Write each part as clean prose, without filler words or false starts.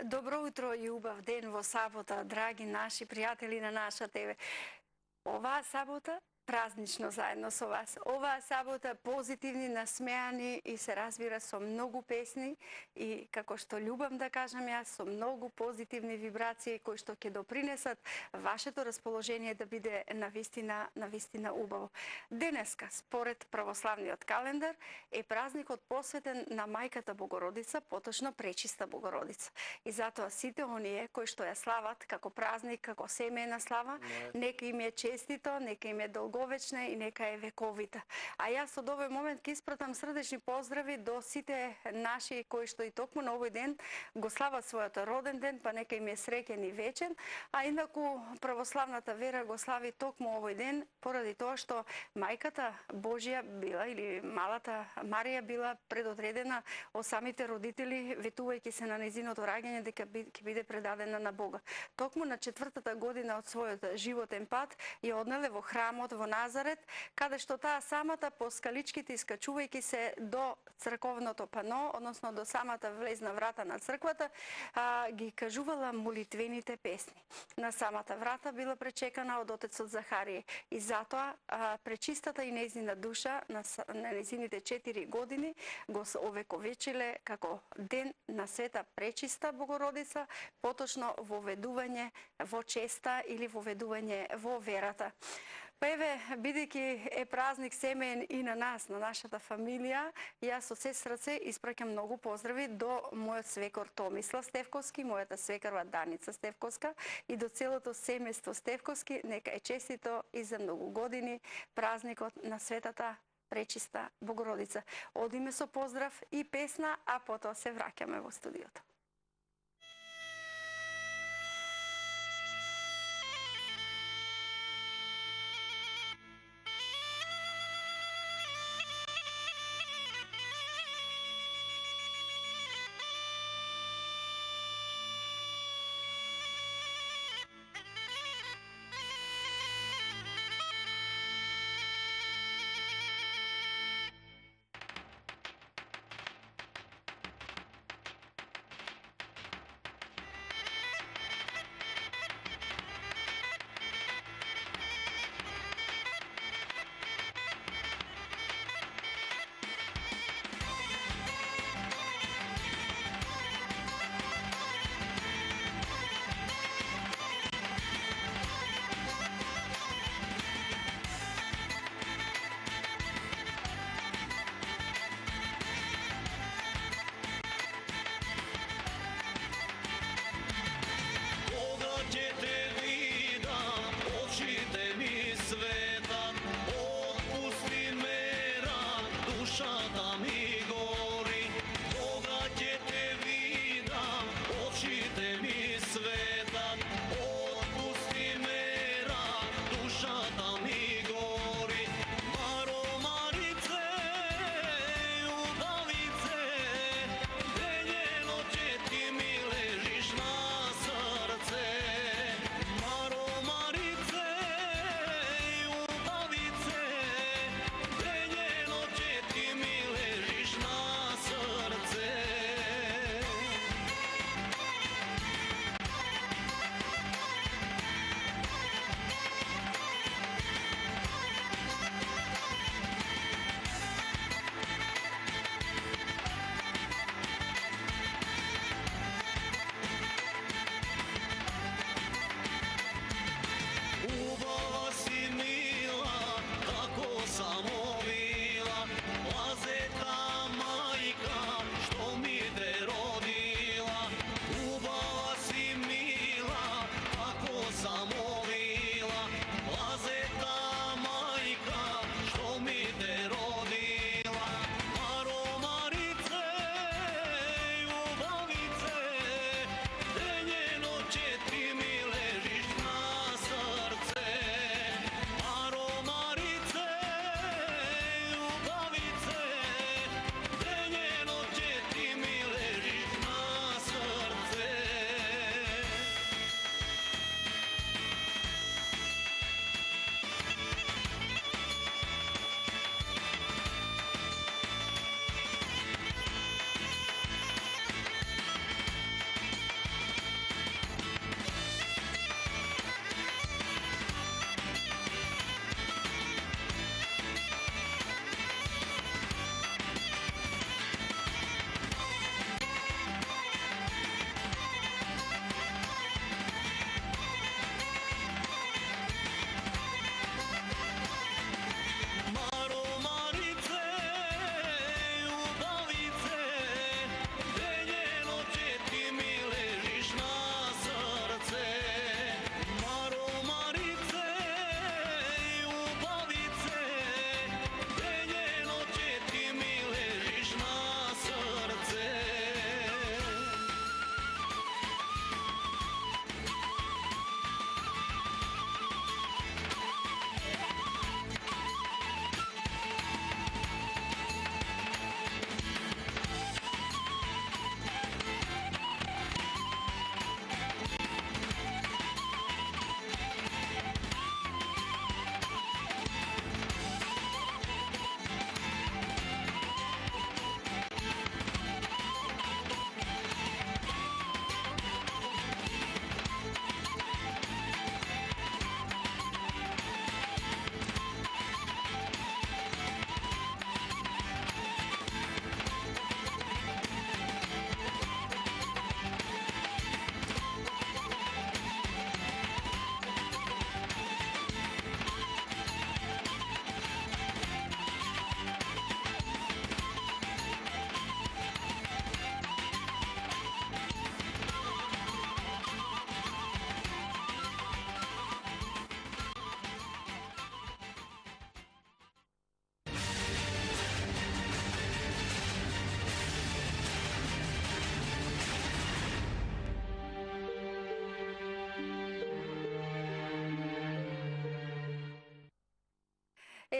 Добро утро и убав ден во сабота, драги наши пријатели на наша ТВ. Оваа сабота празнично заедно со вас. Оваа сабота позитивни, насмеани и се разбира со многу песни и како што љубам да кажам јас, со многу позитивни вибрации кои што ќе допринесат вашето расположение да биде навистина убаво. Денеска, според православниот календар, е празникот посветен на мајката Богородица, поточно Пречиста Богородица. И затоа сите оние кои што ја слават како празник, како семејна слава, нека им е честито, нека им е долговечна и нека е вековита. А јас од овој момент ќе испратам срдечни поздрави до сите наши кои што и токму на овој ден го слават својот роден ден, па нека им е среќен и вечен, а инаку православната вера го слави токму овој ден поради тоа што мајката Божја била или малата Марија била предодредена од самите родители, ветувајќи се на нејзиното раѓање дека ќе биде предадена на Бога. Токму на 4-та година од својот животен пат ја однеле во храмот во Назарет, каде што таа самата по скаличките искачувајќи се до црковното пано, односно до самата влезна врата на црквата, ги кажувала молитвените песни. На самата врата била пречекана од отецот Захарија и затоа пречистата и нејзина душа на нејзините 4 години го овековечиле како ден на Света Пречиста Богородица, поточно воведување во честа или воведување во верата. Па еве, бидејќи е празник семеен и на нас, на нашата фамилија, јас од се срце испраќам многу поздрави до мојот свекор Томислав Стевковски, мојата свекарва Даница Стевковска и до целото семејство Стевковски. Нека е честито и за многу години празникот на Светата Пречиста Богородица. Одиме со поздрав и песна, а потоа се враќаме во студиото.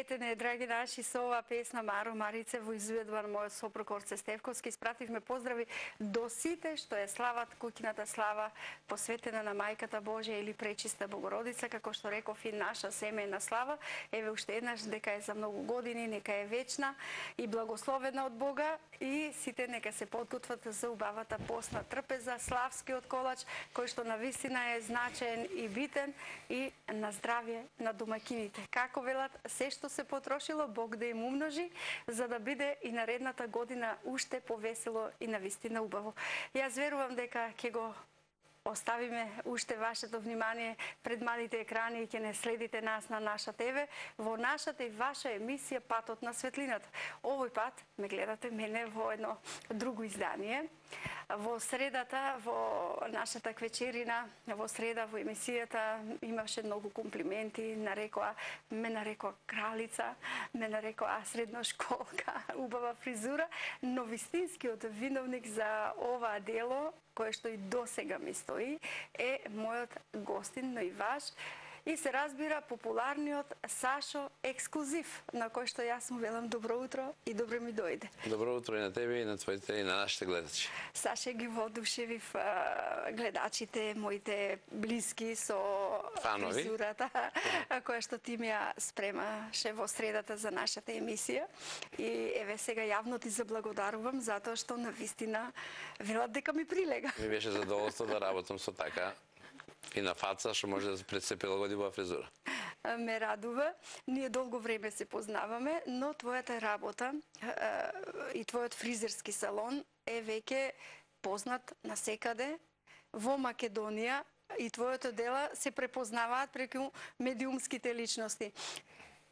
светене, драги наши, со оваа песна Маро Марице во изvedба на мојот сопруг Орце Стевковски испративме поздрави до сите што е слават куќината слава посветена на мајката Божја или пречиста Богородица, како што реков и наша семејна слава. Еве уште еднаш дека е за многу години, нека е вечна и благословена од Бога и сите нека се подготват за убавата постна трпеза, славскиот колач кој што навистина е значаен и битен и на здравје на домакините. Како велат, се што се потрошило, Бог да им умножи, за да биде и наредната година уште повесело и навистина убаво. Јас верувам дека ќе го оставиме уште вашето внимание пред малите екрани и ќе не следите нас на наша ТВ во нашата и ваша емисија Патот на светлината. Овој пат ме гледате мене во едно друго издание. Во средата, во нашата квечерина, во среда во емисијата имаше многу комплименти, ме нарекоа кралица, ме нарекоа средношколка, убава фризура, но вистинскиот виновник за ова дело, кое што и досега ми стои, е мојот гостин, но и ваш, и се разбира популарниот Сашо Ексклузив, на кој што јас му велам добро утро и добро ми дојде. Добро утро и на тебе и на твоите и на нашите гледачи. Саше, ги воодушевив гледачите, моите блиски со фанови, фризурата која што ти ми ја спремаше во средата за нашата емисија. И еве сега јавно ти заблагодарувам затоа што навистина велат дека ми прилега. Ми беше задоволство да работам со така и на фаца, што може да се прилагоди во фризура. Ме радува. Ние долго време се познаваме, но твојата работа и твојот фризерски салон е веќе познат насекаде во Македонија и твоето дела се препознаваат преку медиумските личности.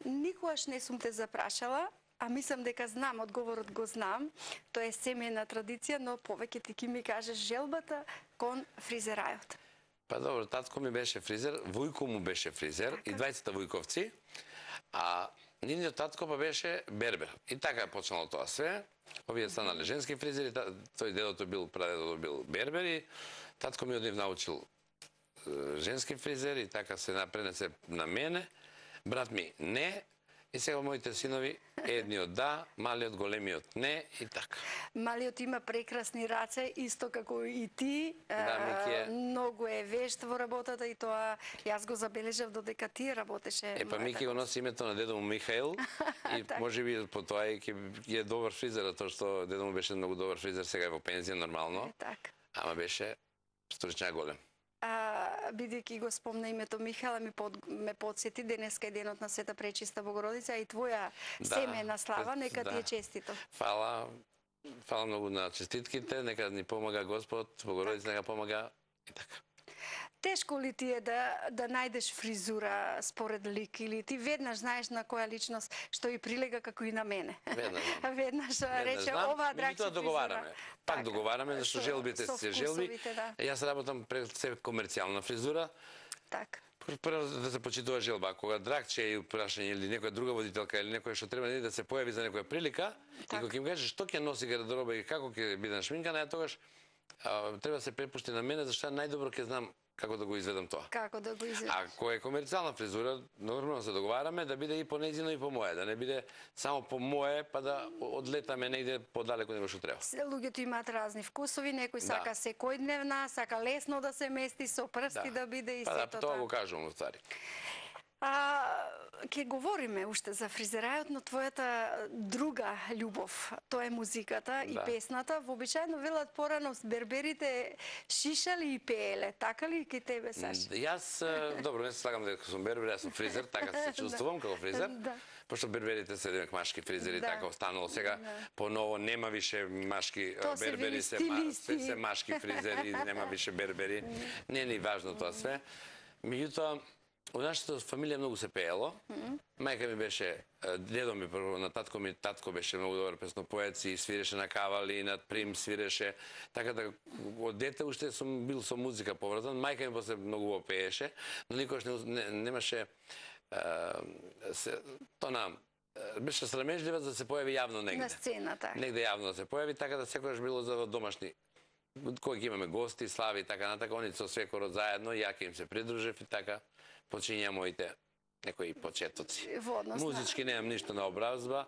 Никогаш не сум те запрашала, а мислам дека знам, одговорот го знам, тоа е семејна традиција, но повеќе ти ки ми кажеш желбата кон фризерајот. Па добро, татко ми беше фризер, вујко му беше фризер, и двајцата вујковци, а нивниот татко па беше бербер. И така е почнало тоа све. Овие станале женски фризери, тој дедото бил, прадедото бил бербер и татко ми од нив научил женски фризер и така се напренесе на мене. Брат ми не, и сега моите синови, едниот да, малиот, големиот не и така. Малиот има прекрасни раце, исто како и ти. Да, многу е вешт во работата и тоа јас го забележав додека ти работеше. Па Мики го носи името на дедо му Михаил и можеби по тоа ќе е добар фризер, тоа што дедо му беше многу добар фризер, сега е во пензија нормално. Така. Ама беше стручњак голем. Бидејќи го спомна името Михаила, ме подсети, денеска е денот на Света Пречиста Богородица и твоја семејна слава, нека ти е честито. Фала многу на честитките, нека ни помага Господ, Богородица нека помага и така. Тешко ли ти е да најдеш фризура според лик или ти веднаш знаеш на која личност што и прилега како и на мене? Веднаш рече ова драгче договараме. Пак договараме, зашто желбите се желби. Јас работам пред се комерцијална фризура. Така. Прво да се почитува желба, кога драгче и прашање или некоја друга водителка или некој што треба да се појави за некоја прилика, и кога ќе ми каже што ќе носи гардероба и како ќе биде шминкана, тогаш треба да се препушти на мене, зашто најдобро ќе знам како да го изведам тоа. Како да го изведам. Ако е комерцијална фризура, нормално се договараме да биде и по нејзино и по моје, да не биде само по моје па да одлетаме негде подалеку него што треба. Луѓето имаат разни вкусови, некој сака секојдневна, сака лесно да се мести со прсти да биде и сето тоа. Па тоа го кажувам уствари. Ке говориме уште за фризерајот, но твојата друга љубов, тоа е музиката и песната. Вообичаено велат порано берберите шишали и пееле, така ли ки тебе, Саша? Јас, добро, не се слагам дека сум бербер, јас сум фризер, така се чувствувам како фризер. Пошто берберите се демек машки фризери, така останало. Сега поново нема више машки бербери, се машки фризери, нема више бербери. Не е ни важно тоа све. Меѓутоа, во нашата фамилија многу се пеело. Мајка ми беше, дедо ми прво, на татко беше многу добар песнопоец и свиреше на кавали, и на прим свиреше. Така да од дете уште сум бил со музика поврзан. Мајка ми после многу пееше, но никош немаше беше срамежлива за да се појави јавно негде. На сцена, така. Негде јавно да се појави, така да секогаш било за домашни. Кога ќе имаме гости, слави и така натака, они со свекорот заедно, ја ќе им се придружев и така почиња моите некои почетоци. Водност, Музички немам ништо на образба.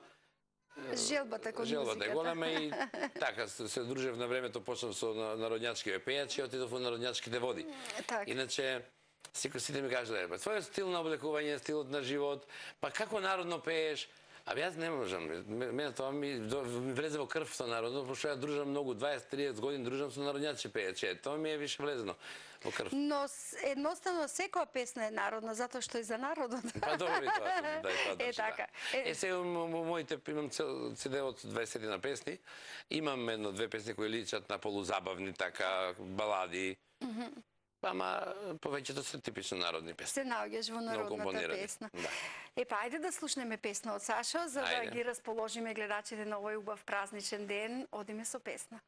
Желбата кон Желбата е голема и така се дружев на времето, почнав со народњачки пејачи и отидов во народњачките води. Иначе сите ми кажат, твојот стил на облекување, стилот на живот, па како народно пееш? Јас не можам. Мене тоа ми влезе во крв со народно, пошто ја дружам многу, 20-30 години дружам со народњачки пејачи. Тоа ми е више влезено во крв. Но едноставно секоја песна е народна, затоа што е за народот. Па добро и тоа, да, и тоа е така. Сега моите имам CD од 20 на песни. Имам едно-две песни кои личат на полузабавни, така, балади. Ама повеќето се типично народни песни. Се наоѓаш во народната песна. Епа, ајде да слушнеме песна од Сашо, за да ги расположиме гледачите на овој убав празничен ден. Одиме со песна.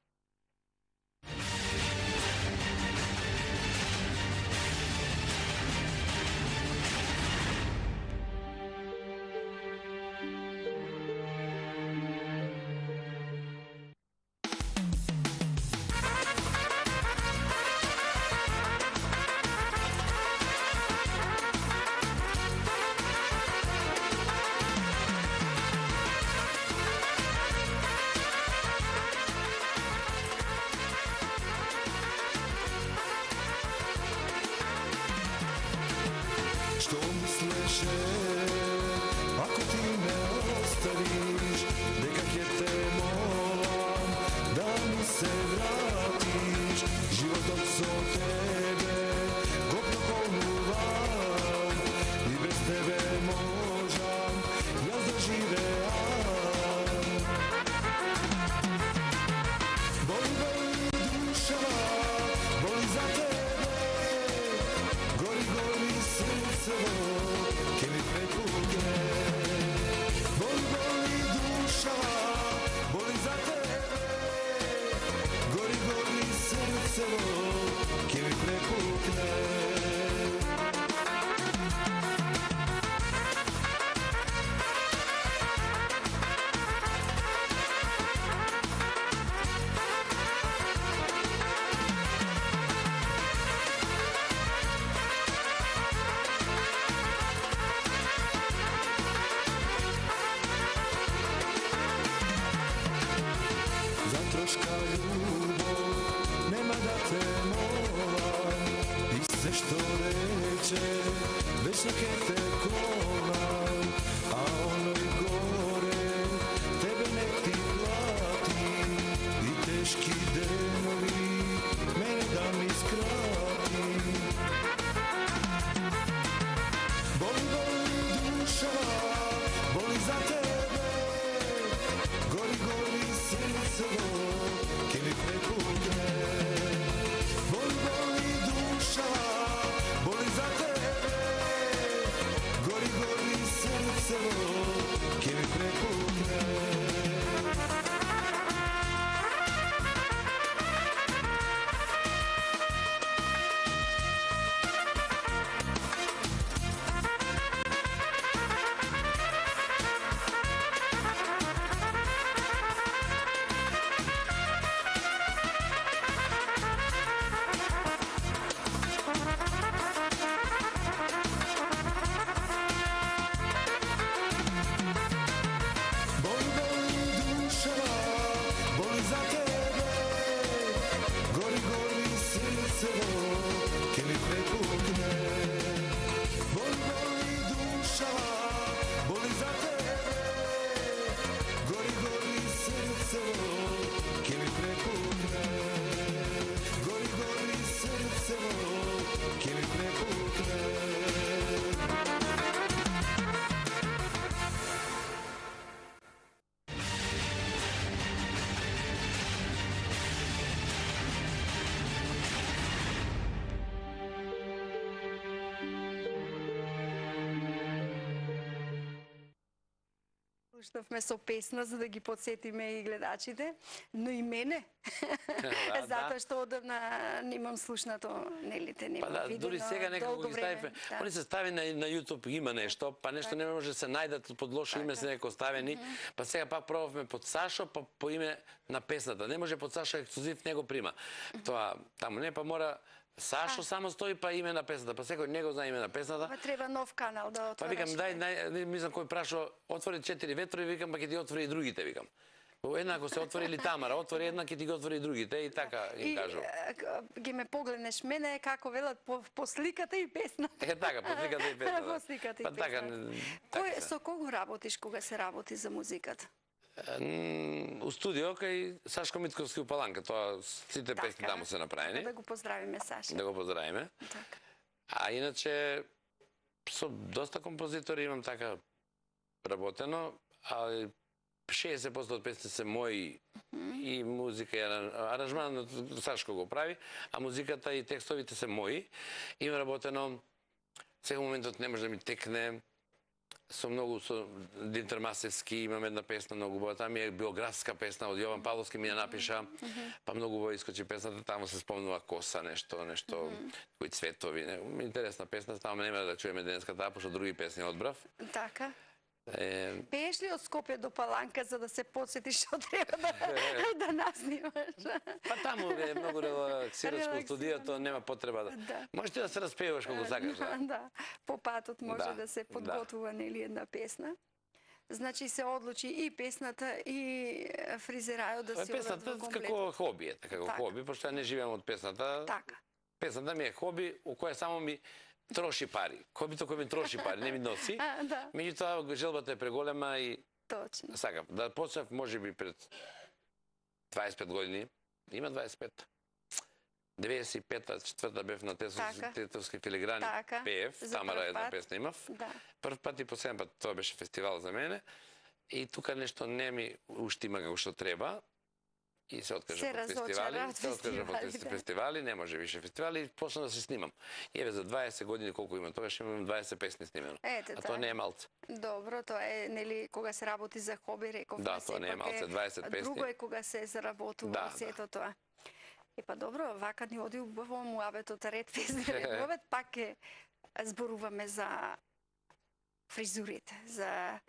Слушнавме со песна за да ги подсетиме и гледачите, но и мене. Затоа што одавна немам слушнато, нели те немам видено. Дури сега некако ги стави, они се стави на YouTube, има нешто, па нешто не може се најдат под лошо име се неко ставени, па сега пак пробавме под Сашо, па по име на песната. Не може под Сашо ексклузив, него прима. Тоа таму не, па мора Сашо само стои па име на песната, па секој него знае име на песната. Па треба нов канал да отвориш. Па викам дај, мислам кој прашо, отвори 4 ветрови, викам па ќе ти отвори и другите, викам. Еднako се отвори или Тамара, отвори една, ќе ти ги отвори и другите и така им кажу. Ги ме погледнеш мене како велат по сликата и песната. Така, по сликата и песната. По сликата и песната. Со кого работиш кога се работи за музиката? У студио кај Сашко Митковски у Паланка, тоа сите песни таму се направени. Да го поздравиме Саша. Да го поздравиме. Така. А иначе со доста композитори имам така работено, а 60% од песни се мои и музика и аранжман Сашко го прави, а музиката и текстовите се мои. Имам работено, сега моментот не може да ми текне, со многу, со Димитар Масевски имам една песна многу убава, таа ми е биографска песна од Јован Павловски ми ја напиша, па многу убаво искочи песната, таму се спомнува коса, нешто, кои цветови, интересна песна, таму нема да чуеме денеска таа, пошто други песни одбрав. Така. Пееш ли од Скопје до Паланка за да се подсетиш што треба да наснимаш? Па таму е многу релаксирачко студиото, нема потреба да. Можеш ти да се распеваш колку сакаш, да. Да, по патот може да се подготвува нели една песна. Значи се одлучи и песната и фризерајот да си одат во комплет. Песната како хоби е, како хоби, пошто ја не живеам од песната. Така. Песната ми е хоби, у која само ми троши пари. Хобито кој ми троши пари, не ми носи. Меѓутоа желбата е преголема и точно. Сакам да почнав можеби пред 25 години. Има 25. 95-та, 4-та бев на Тетовски филиграни, пеев, Тамара една песна имав. Прв пат и последен пат тоа беше фестивал за мене. И тука нешто не ми уштима како што треба. И се откажа од фестивали, не може више фестивали и почна да се снимам. И еве за 20 години колку имам, тогаш имам 20 песни снимено. А тоа не е малце. Добро, тоа е нели кога се работи за хоби, рековме. Да, тоа не е малце, 20 песни. Друго е кога се заработува сето тоа. Па добро, вака ни оди убаво муабетот ред фестивал. Пак ќе зборуваме за фризурите, за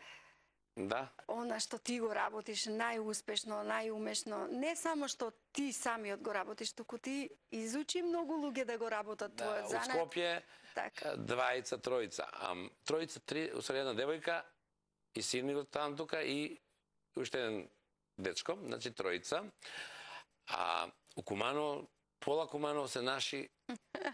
она што ти го работиш најуспешно, најумешно, не само што ти самиот го работиш, туку ти изучи многу луѓе да го работат твојот занат. Од Скопје, двајца, тројца. Тројца, три, усреди една девојка и син ми го таму тука и уште еден дечко, значи тројца. А у Куманово, пола Куманово се наши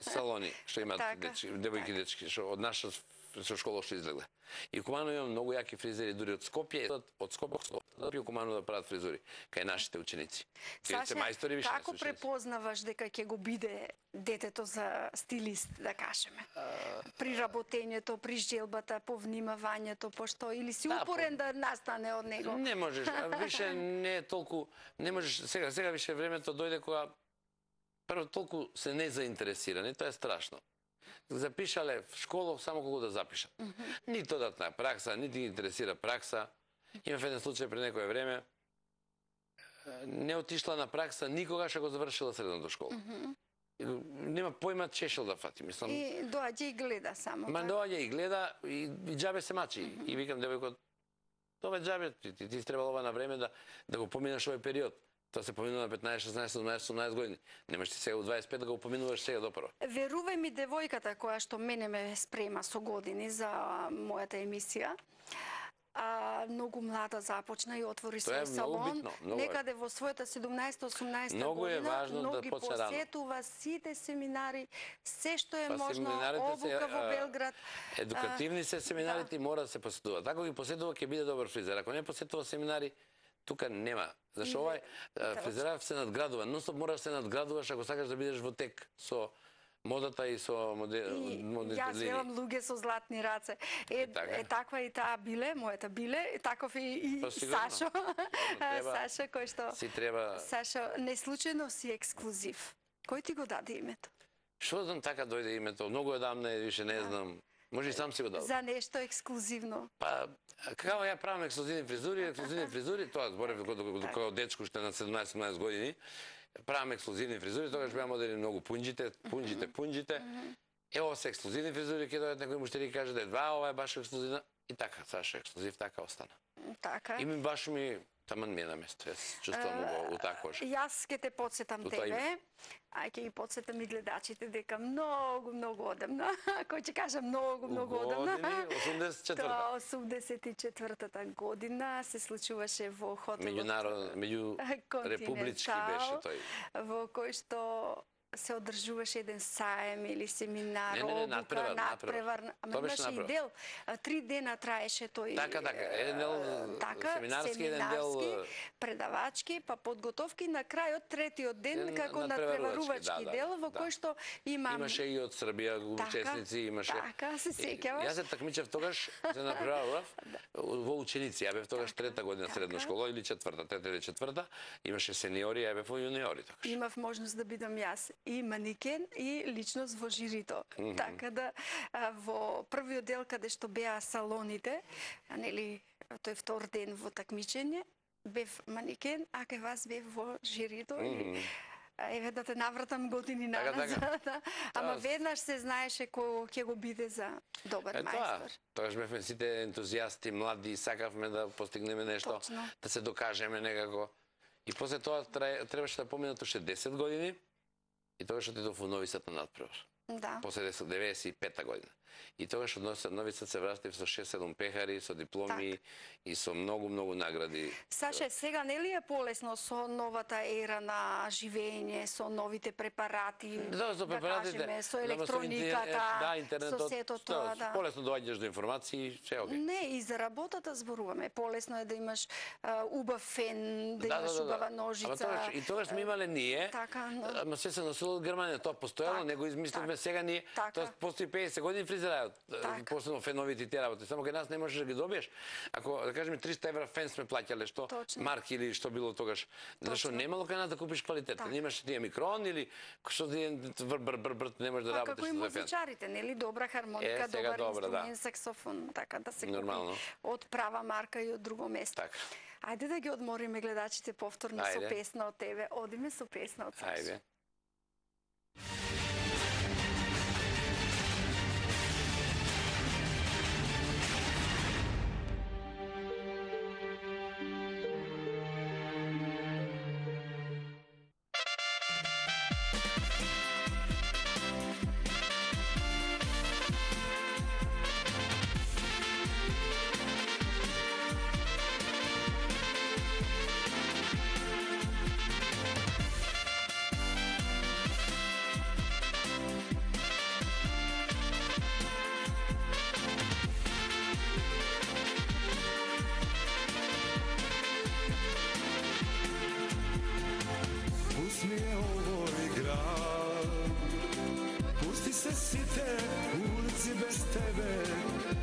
салони, што имат девојки и дечки, што од наша со школа што излегле. И у Куманово имам многу јаки фризери, дури од Скопје, од Скопје у Куманово да прават фризури, кај нашите ученици. Саша, како препознаваш дека ќе го биде детето за стилист, да кажеме? При работењето, при желбата, по внимавањето, пошто или си упорен да настане од него? Не можеш, више не е толку, не можеш, сега више времето дојде кога прво толку се не заинтересирани, тоа е страшно. Запишале в школа само колку да запишат. Ни додатна пракса, нити ги интересира пракса. Имав еден случај пред некое време, не отишла на пракса никогаш ако завршила средната школа. Нема појма чешел да фати, мислам. И доаѓа и гледа само. Ма доаѓа и гледа и џабе се мачи. И викам девојкот, тоа џабе, ти требало ова на време да го поминаш овој период. Тоа се поминува на 15, 16, 17, 18 години. Немаш ти сега у 25 да го поминуваш сега допро. Верувај ми, девојката која што мене ме спрема со години за мојата емисија, многу млада започна и отвори свој салон. Некаде во својата 17-18 година, многу посетува сите семинари, се што е можно, обука во Белград. Едукативни се семинарите и мора да се посетува. Ако ги посетува, ќе биде добар фризер. Ако не посетува семинари, тука нема. Зашто овај фризеров се надградува. Нонстоп мораш да се надградуваш ако сакаш да бидеш во тек со модата и со модните Јас велам луѓе со златни раце. Таква и таа Биле, мојата Биле, таков и Сашо. Сашо кој што Сашо, не случајно си ексклузив. Кој ти го даде името? Што знам, така дојде името. Многу одамна, више не знам. Може и сам си го дал. За нешто ексклузивно. Па, како ја правам ексклузивни фризури, тоа зборев кога дечко уште на 17-18 години, правам ексклузивни фризури, тогаш беа модели многу пунџите. Ево се ексклузивни фризури, ќе дојдат некој муштери каже да ова е баш ексклузивна. И така, Саша ексклузив, така остана. Така. И ми баш ми Таман ми е на место, јас чувствувам утакош. Јас ќе те подсетам тебе, а ќе ги подсетам и гледачите дека многу одамна, кој ќе кажа многу одамна. Години, 84-та. 84-та година се случуваше во хотелот Меѓурепублички беше тој. Во кој што се одржуваше еден саем или семинар, надпревар. Ама имаше и дел, 3 дена траеше тој. Така, еден дел семинарски, еден дел предавачки, па подготовки, на крајот третиот ден како надпреварувачки дел, во кој што имаше и од Србија учесници, имаше. Така, се сеќаваш. Јас се такмичев тогаш за надпреварував во ученици, ја бев тогаш 3-та година средна школа или 4-та, 3-та или 4-та, имаше сениори, ја бев во јуниори тогаш. Имав можност да бидам јас и манекен и личност во жирито. Така да во првиот дел каде што беа салоните, нели, тој втор ден во такмичење, бев манекен, а кај вас бев во жирито. Еве да те навратам години назад. Ама веднаш се знаеше кој ќе го биде за добар мајстор. Тогаш бевме сите ентузијасти, млади, сакавме да постигнеме нешто, да се докажеме некако. И после тоа требаше да поминат уште 10 години. И тогаш отидов во Нови Сад на надпревар. Да. После 95-та година. И тогаш од Нови Сад се вратив со 6-7 пехари, со дипломи и со многу награди. Саше, сега не ли е полесно со новата ера на живење, со новите препарати, да кажеме, со електрониката, интернетот, со сето тоа, да. Полесно доаѓаш до информации, се окей. Не, и за работата зборуваме. Полесно е да имаш убав фен, да имаш убава ножица. И тогаш сме имале ние, ама се носило од Германија, тоа постојано, не го измислевме сега ние, тоа постои 50 години фризерот, посебно феновите тие работи. Само кај нас не можеш да ги добиеш. Ако да кажеме 300 евра фен сме плаќале, што марки или што било тогаш, зашто немало кај нас да купиш квалитет. Немаше тие микрон или што не можеш да работиш за фен. Како и музичарите, нели, добра хармоника, добар инструмент, саксофон, така да се купи од права марка и од друго место. Ајде да ги одмориме гледачите повторно со песна од тебе. Одиме со песна од Саша.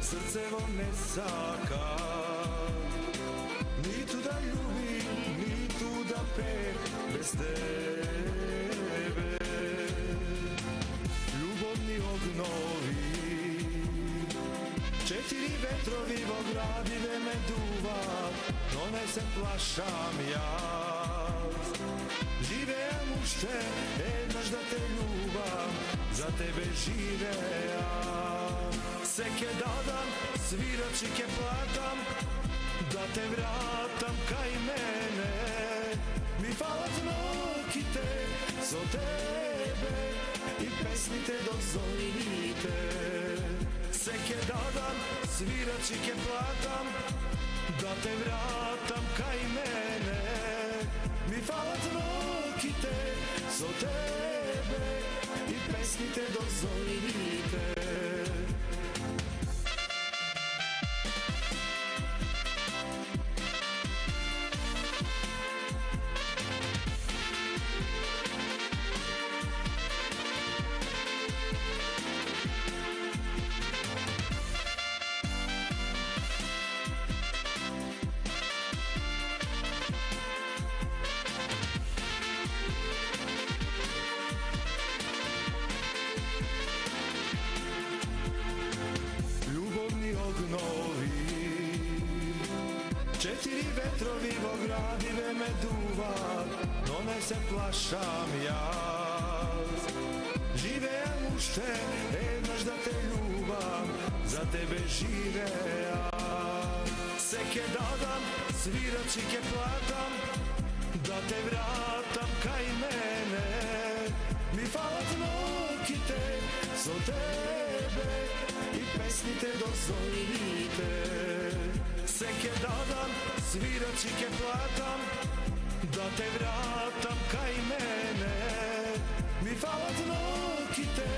Srcevo ne saka, ni tu da ljubi, ni tu da pe bez tebe. Ljubovni ognovi, 4 vetrovi vo gradive me duva, no ne se plašam ja. Živeam ušte, jednaš da te ljubav, za tebe živeam. Seke dadam, svirači ke platam, da te vratam kaj mene. Mi falat nokite, so tebe, i pesmi te dozvolite. Seke dadam, svirači ke platam, da te vratam kaj mene. Mi falat nokite, so tebe, i pesmi te dozvolite. Vetrovi vo gradive me duva, no ne se plašam ja. Živeam ušte, jednaš da te ljubav, za tebe živeam. Се ке дадам, свирачи ке платам, да те вратам кај мене. Ми фалат ноките со тебе и песните до зорите. Се ке дадам, свирачи ке платам, да те вратам кај мене. Ми фалат ноките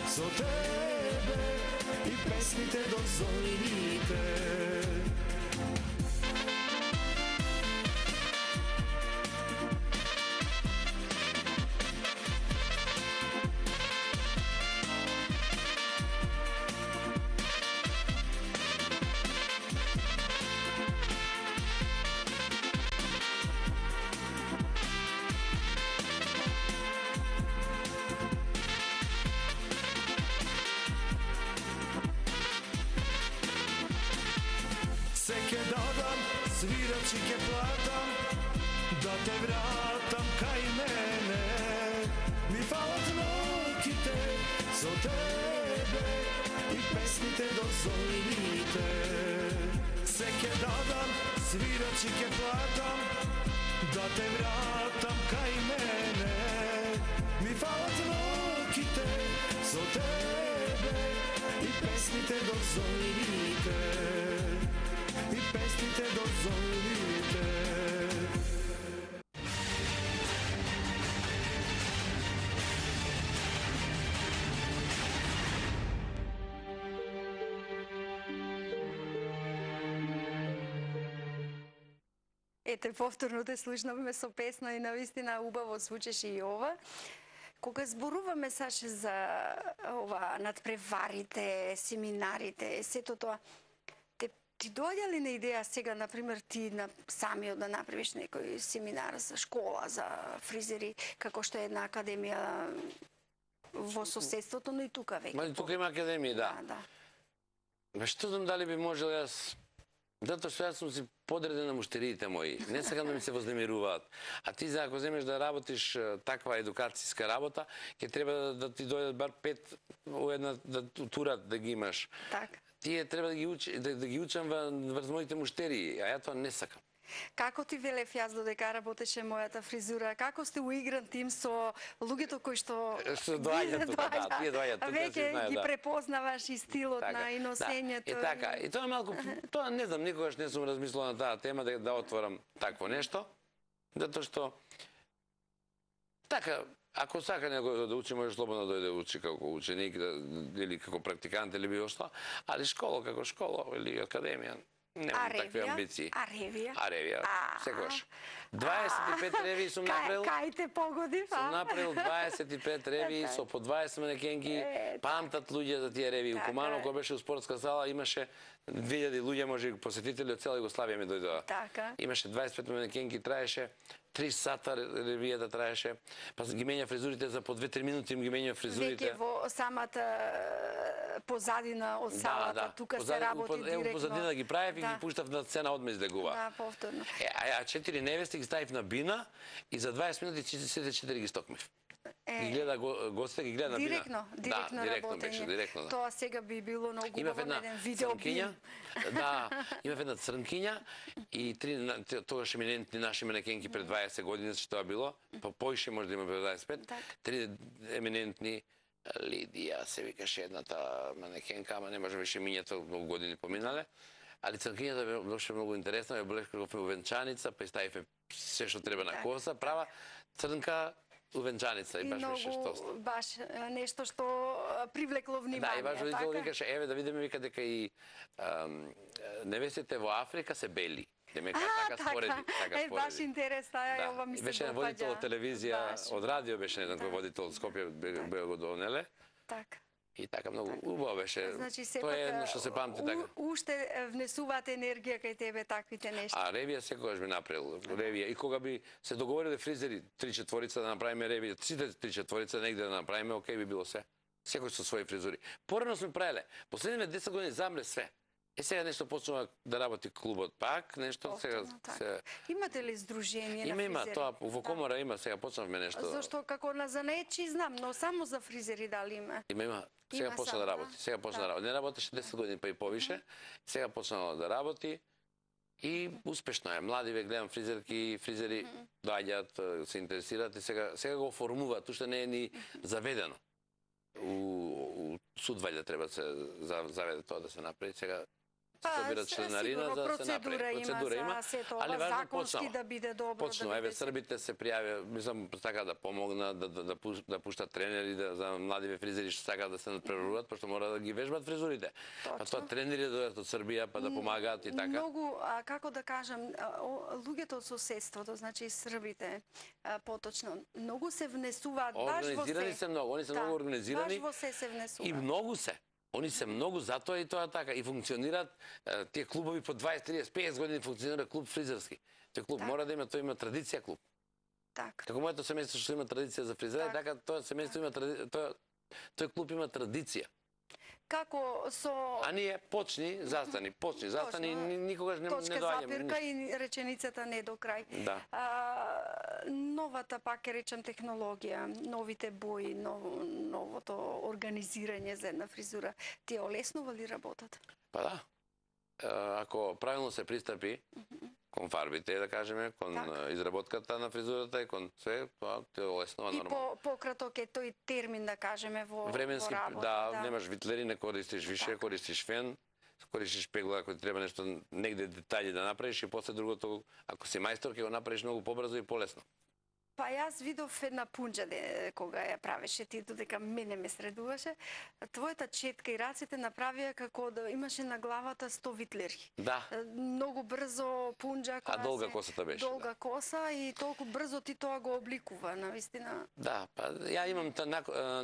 со тебе и песните до зорите. Се ке дадам, свирачи ке платам, да те вратам кај мене. Ми фалат ноките со тебе и песните до зорите. Се ке дадам, свирачи ке платам, да те вратам кај мене. Ми фалат ноките со тебе и песните до зорите. И песните до зорите. Ете, повторно те слушнавме со песна и навистина убаво звучеше и ова. Кога зборуваме, Саше, за ова надпреварите, семинарите, сето тоа, ти доаѓа ли на идеја сега, например, ти самиот да направиш некој семинар за школа, за фризери, како што е една академија во соседството, но и тука веќе? Ма и тука има академија, да. Ма што знам дали би можел јас... Затоа што јас сум си подреден на муштериите мои. Не сакам да ми се вознемируваат. А ти, ако земеш да работиш таква едукацијска работа, ќе треба да ти дојдат бар 5 у една тура да ги имаш. Така. Тие треба да ги учам врз моите муштерии, а ја тоа не сакам. Како ти велев јас додека работеше мојата фризура? Како сте уигран тим со луѓето кои што доаѓаат тука, да, тие доаѓаат тука, веќе ги препознаваш и стилот на и носењето. И така, и тоа малку, тоа не знам, никогаш не сум размислувал на таа тема да отворам такво нешто, затоа што така, ако сака некој да учи, може слободно дојде да учи како ученик или како практикант или било што, али школа како школа или академија. Немам такви амбиции. А ревија? А ревија, секогаш. 25 ревии сум направил. Кај те погодив, Сум направил 25 ревии со по 20 манекенки. Памтат луѓе за тие ревии. У Куманово, кога беше у спортска сала, имаше 2000 луѓе, може посетители од цела Југославија ми дојдоа. Така. Имаше 25 манекенки, траеше 3 сата ревијата траеше, па ги менја фризурите за по 2-3 минути, им ги менја фризурите. Веќе во самата позадина од салата, тука се работи директно. Позадина ги правев и ги пуштав на сцена одме излегува. Да, повторно. А 4 невести ги ставив на бина и за 20 минути сите 4 ги стокмив. Ги гледа гостите, ги гледа на бина. Директно директно беше, директно. Тоа сега би било многу убаво еден видеобим. Да, имав една црнкиња и 3 тогаш еминентни наши манекенки пред 20 години, што тоа било, поише може да има пред 25, 3 еминентни, Лидија се викаше едната манекенка, ама не може беше минјата, многу години поминале. Али црнкињата беше многу интересна, ја облечкавме увенчаница, па ставивме се што треба на коса, права црнка увенчаница и баш беше што. Баш нешто што привлекло внимание. Да, и баш родител викаше, еве да видиме вика дека и невестите во Африка се бели. Демека така спореди, така спореди. Баш интерес, ова ми се допаѓа. Беше водител од телевизија, од радио беше еден кој водител од Скопје бе го донеле. Така. И така многу убаво беше. Значи, тоа е едно што се памти така. Уште внесуваат енергија кај тебе таквите нешта. А ревија секогаш би направил. Ревија. И кога би се договориле фризери 3/4 да направиме ревија, сите 3/4 негде да направиме, окей би било се. Секој со своји фризури. Порано сме правеле. Последните 10 години замре све. Сега нешто почнува да работи клубот пак, нешто сега Имате ли здружение на фризери? Има, тоа во комора има, сега почнавме нешто. Зашто како на занаетчи знам, но само за фризери дали има? Има. Сега почна да работи. Сега почна да работи. Не работеше 10 години па и повише. Сега почнало да работи И успешно е. Млади ве гледам фризерки, фризери доаѓаат, се интересираат и сега го оформуваат, уште не е ни заведено. У Судваља треба да се заведе тоа да се направи. Сега се собира членарина за да се направи. Процедура има, али законски да биде добро. Почнува, еве србите се пријавија, мислам така да помогнат, да пуштат тренери за младиве фризери што сакаат да се надпреваруваат, пошто мора да ги вежбат фризурите. Па тоа тренери доаѓаат од Србија па да помагаат и така. Многу, како да кажам, луѓето од соседството, значи србите, поточно, многу се внесуваат баш во се. Организирани се многу, они се многу организирани. Баш во се внесуваат. И многу се. Они се многу, затоа и тоа така. И функционираат тие клубови по 20, 30, 50 години функционира клуб фризерски. Тој клуб мора да има, тој има традиција клуб. Така. Како моето семејство што има традиција за фризера, така тоа семејство има тој клуб има традиција. Како со... А ние почни, застани, никогаш не доаѓаме. Точка запирка и реченицата не до крај. Да. Новата, пак ќе речам, технологија, новите бои, новото организирање за една фризура, ти олеснува ли работата? Па да. Ако правилно се пристапи кон фарбите, да кажеме, кон изработката на фризурата и кон све, тоа те олеснува нормално. И пократок е тој термин, да кажеме, во временски, работа. Да, немаш витлери, не користиш више, користиш фен, користиш пегла, ако ти треба нешто негде детали да направиш и после другото, ако си мајстор, ќе го направиш многу побрзо и полесно. Па јас видов една пунџа кога ја правеше ти, додека мене ме средуваше. Твојата четка и раците направија како да имаше на главата 100 витлери. Да. Многу брзо пунџа. А долга косата беше. Долга коса и толку брзо ти тоа го обликува, навистина. Да, па ја имам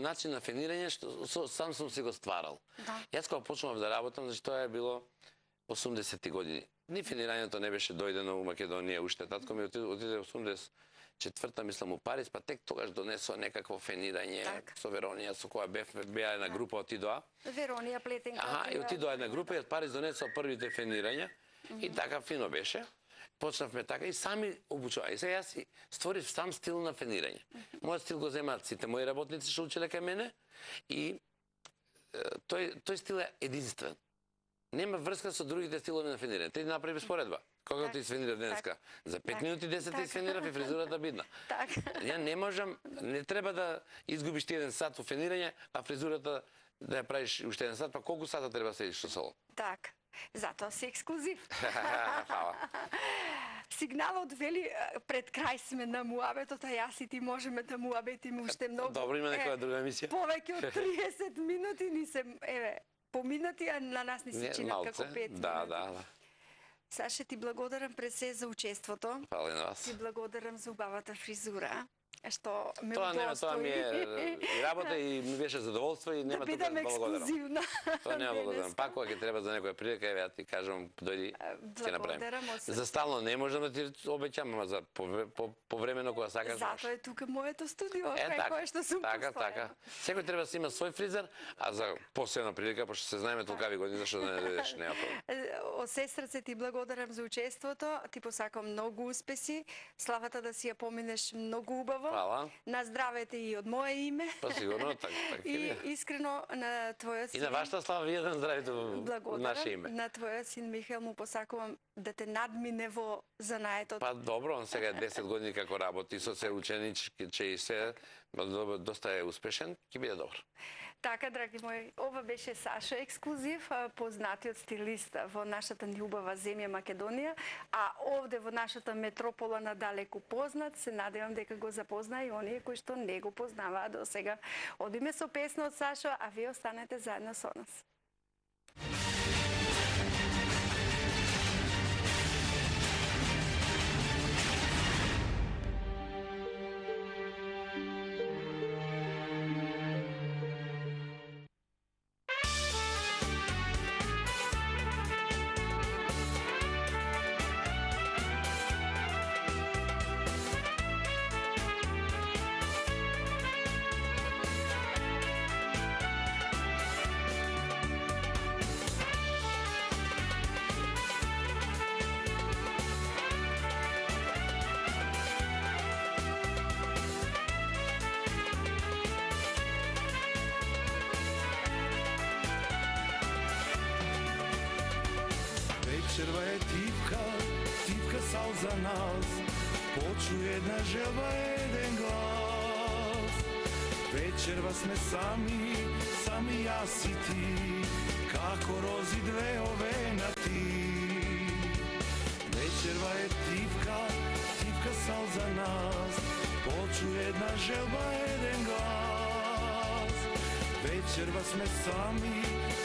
начин на фенирање што сам сум си го стварал. Да. Јас кога почнував да работам, значи тоа е било 80-ти години. Ни фенирањето не беше дојдено у Македонија уште. Татко ми отиде 84-та, мислам, у Париз, па тек тогаш донесо некакво фенирање со Веронија, со која беа една група отидоа. Веронија Плетенка. И отидоа една група и од Париз донесо првите фенирања и така фино беше. Почнавме така и сами обучуваа. И сега јас си створив сам стил на фенирање. Мојот стил го земаат сите мои работници што учеле кај мене и тој стил е единствен. Нема врска со другите стилови на фенирање. Ти направи споредба. Кога ти свенира денеска? За 5 минути 10 ти свенирав и фризурата бидна. Ја не можам, не треба да изгубиш ти 1 сат во фенирање, а фризурата да ја правиш уште 1 сат, па колку сата треба да седиш со салон? Така. Затоа си ексклузив. Фала. Сигналот вели пред крај сме на муабетот, а јас и ти можеме да муабетиме уште многу. Добро, има некоја друга емисија? Повеќе од 30 минути ни се, поминати, а на нас ни се чинат како 5 минути. Да. Саше, ти благодарам пред се за учеството. Фала и на вас. Ти благодарам за убавата фризура. Што ме Тоа ми е работа и ми беше задоволство и нема да бидам ексклузивна. Тоа нема благодарам. Пак кога ќе треба за некоја прилика, еве ја ти кажам, дојди, ќе направиме. За стално не можам да ти обеќам, ама за повремено кога сакаш. Затоа е тука моето студио, кај кое што сум постојана. Така. Секој треба да има свој фризер, а за посебна прилика, пошто се знаеме толкави години, зашто да не дојдеш, нема проблем. Од се срце ти благодарам за учеството, ти посакам многу успеси, славата да си ја поминеш многу убаво. Фала. На здравете и од мое име. Па сигурно, така. И искрено на твојот син. И на вашата слава, вие да здравите во наше име. На твојот син Михаил му посакувам да те надмине во занаетот. Па добро, он сега 10 години како работи со се ученички, и се доста е успешен, ќе биде добро. Така, драги мои, ова беше Саша ексклузив, познатиот стилист во нашата љубава земја Македонија, а овде во нашата метропола надалеку познат, се надевам дека го запознаа и оние кои што не го познаваа до сега. Одиме со песна од Сашо, а вие останете заедно со нас. Вечерва е тивка, sal za nas, počuje jedna želba, jeden glas. Večerva sme sami, sami jas i ti, kako rozi dve ovenati. Večerva je tipka, tipka sal za nas, počuje jedna želba, jeden glas. Večerva sme sami,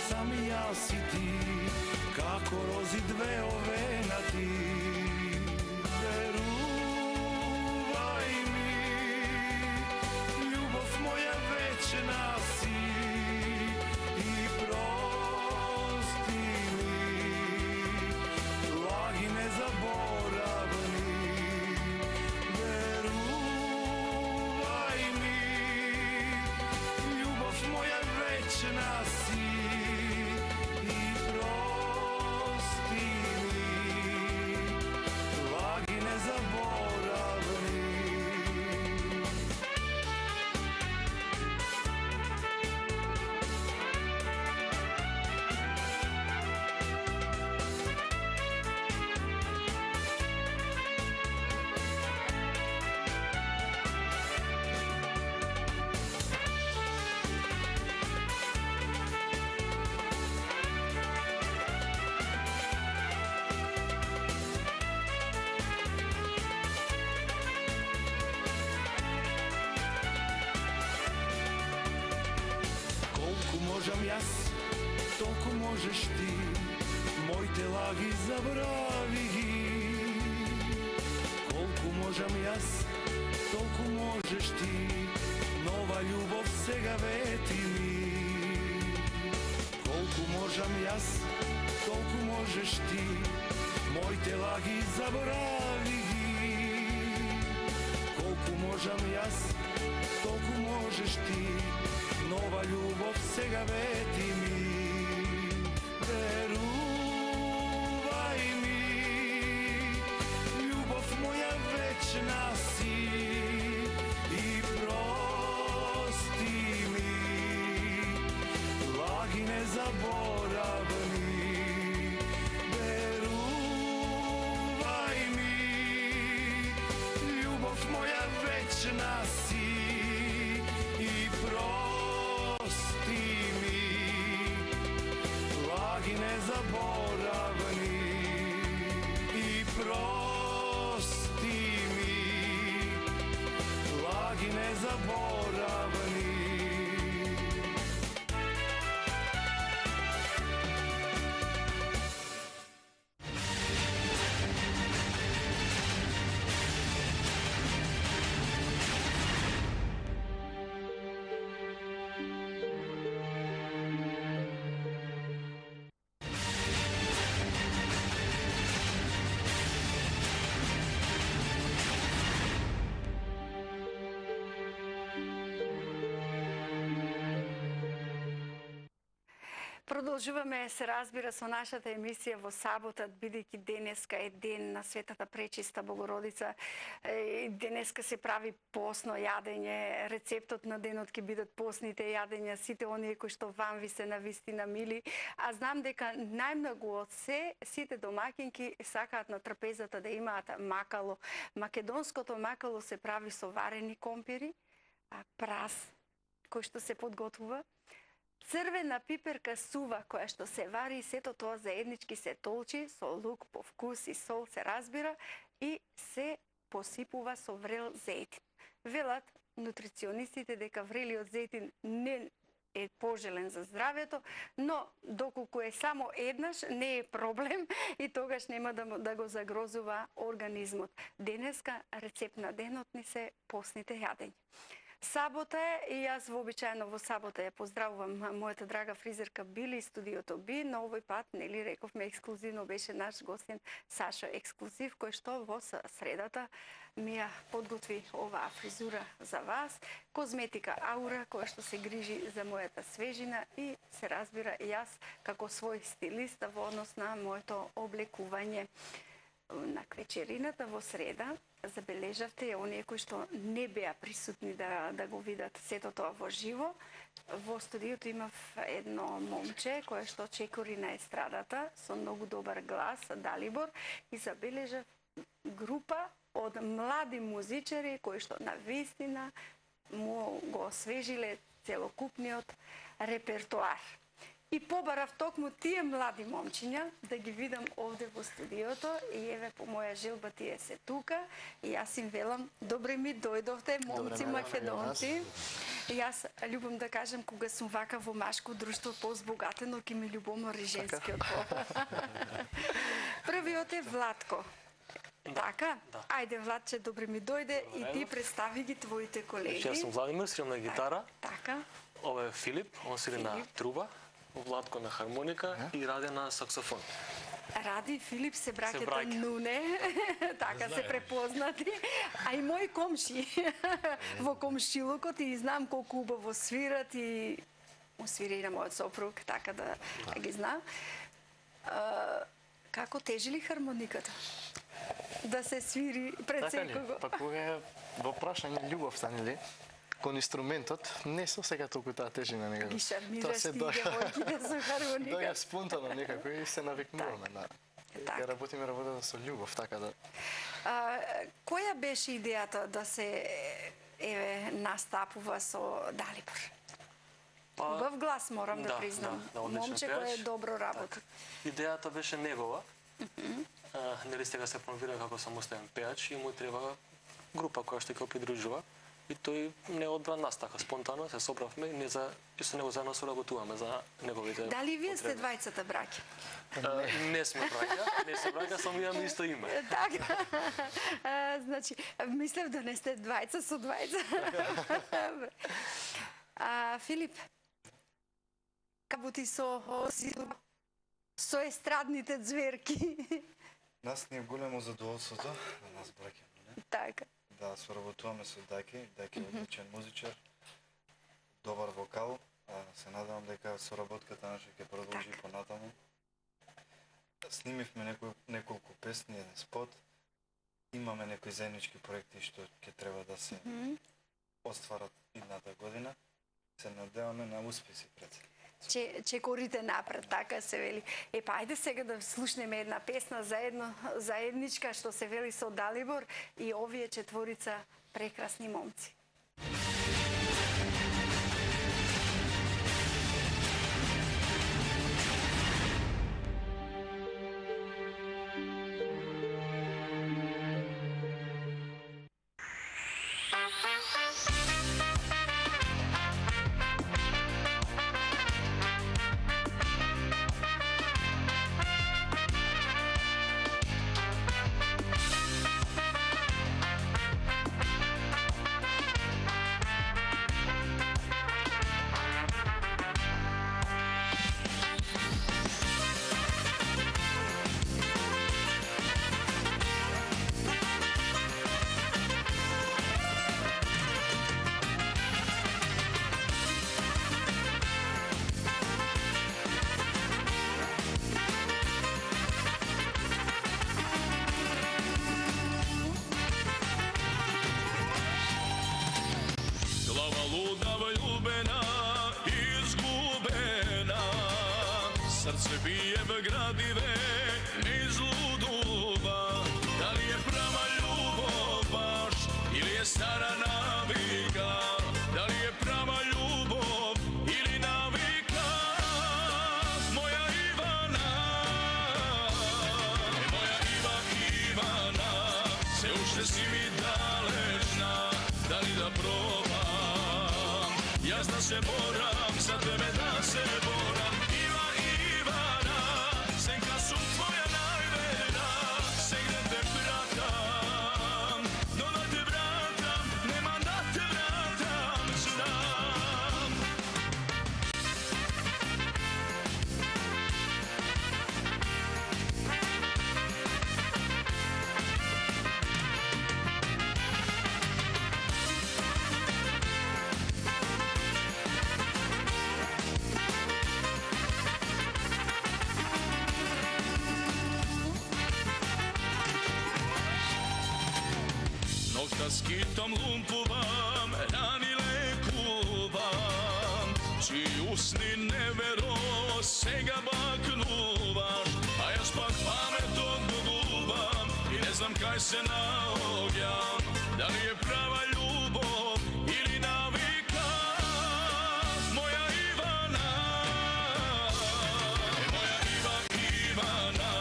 sami jas i ti, kako rozi dve ovenati. Veruvaj mi, ljubov moja večna si, i prosti mi, lagi nezaboravni. Veruvaj mi, ljubov moja večna si, i prosti mi, lagi nezaboravni. Колку можам јас, толку можеш ти, моите лаги забрави ги. Колку можам јас, толку можеш ти, нова љубов сега вети ми. Колку можам јас, толку можеш ти, моите лаги забрави ги. Колку можам јас, толку можеш ти, нова љубов сега вети ми. Верувај ми, љубов моја вечна си, и прости ми, лаги незаборавни. Верувај ми, љубов моја вечна си, и прости ми, лаги незаборавни. И прости ми, лаги незаборавни. Продолжуваме се разбира со нашата емисија во сабота, бидејќи денеска е ден на Светата Пречиста Богородица. Денеска се прави постно јадење, рецептот на денот ќе бидат постните јадења, сите оние кои што вам ви се навистина мили. А знам дека најмногу од сите домаќинки сакаат на трапезата да имаат макало. Македонското макало се прави со варени компири, прас кој што се подготвува, црвена пиперка сува која што се вари и сето тоа заеднички се толчи со лук по вкус и сол се разбира и се посипува со врел зејтин. Велат нутриционистите дека врелиот зејтин не е пожелен за здравјето, но доколку е само еднаш не е проблем и тогаш нема да го загрозува организмот. Денеска рецепт на денот ни се постните јадења. Сабота е и јас вообичаено во сабота ја поздравувам мојата драга фризерка Били, студиото Би, но овој пат, нели рековме, ексклузивно беше наш гостин Сашо Ексклузив, кој што во средата ми ја подготви оваа фризура за вас. Козметика Аура, која што се грижи за мојата свежина и се разбира јас како свој стилист во однос на моето облекување. На вечерината во среда забележавте оние кои што не беа присутни да го видат сето тоа во живо. Во студиото имав едно момче кое што чекори на естрадата со многу добар глас, Далибор, и забележав група од млади музичари кои што навистина му го освежиле целокупниот репертоар. И побарав токму тие млади момчиња да ги видам овде во студиото и еве по моја желба тие се тука и јас им велам добре ми дојдовте момци македонци. И јас љубам да кажам кога сум вака во машко друштво позбогатено ки ми љубомори женскиот пол. Првиот е Владко. Така? Ајде, Владче, добре ми дојде и ти представи ги твоите колеги. Јас сум Владимир, свирам на гитара. Така. Ова е Филип, он свири на труба, Владко на хармоника и Раде на саксофон. Ради и Филип се браќата Нуне, така се препознати, а и мои комши во комшилукот и знам колку убаво свират и му свири и на мојот сопруг, така да ги знам. Како тежи ли хармониката? Да се свири пред секого? Па кога е во прашање љубовта, нели? Кон инструментот, не со сега толку таа тежина некако. Ги шармираш ти девојките со хармоника. Доја спонтано некако и се навикнуваме на... Ја работиме работата со љубов, така да... Која беше идејата да се настапува со Далибор? Убав глас, морам да признам. Момче кој е добро работа. Идејата беше негова. Нели сега се промовира како самостоен пеач и му треба група која што ќе придружува. И тој не одбран нас така спонтано, се собравме и со него заедно соработуваме за неговите. Дали вие сте двајцата браќа? Не сме браќа, само имаме исто име. Така. Значи, мислев да не сте двајца со двајца. Филип, работи со естрадните зверки. Нас ни е големо задоволството, на нас браќа, не? Така. Да соработуваме со Даки. Даки е одличен музичар, добар вокал. Се надевам дека соработката наша ќе продолжи понатаму. Снимивме неколку песни, еден спот. Имаме некои заеднички проекти што ќе треба да се остварат идната година. Се надеваме на успеси пред се. Чекорите напред, така се вели. Па ајде сега да слушнеме една песна заедничка што се вели со Далибор и овие четворица прекрасни момци. Srce bije v gradive niz luduva. Da li je prava ljubav baš ili je stara navika? Da li je prava ljubav ili navika? Moja Ivana, moja Ivana, se ušte si mi dalečna. Da li da probam? Ja znam se moram za tebe da se boram. Skitom lumpuvam, rani lekuvam, čiji usni nevero sega baknuvaš, a ja pak pamet odguvam i ne znam kaj daj se naogjam, da li je prava ljubav ili navika. Moja Ivana, moja Ivana,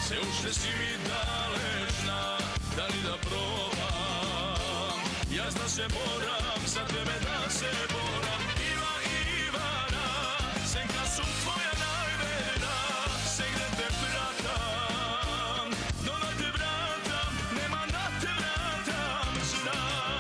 se ušte si mi dalečna, da li da probam, ja zna se moram, za tebe da se boram. Ivana, senka su tvoja najverna, se gde te pratam, no da te vratam, nema da te vratam, znam.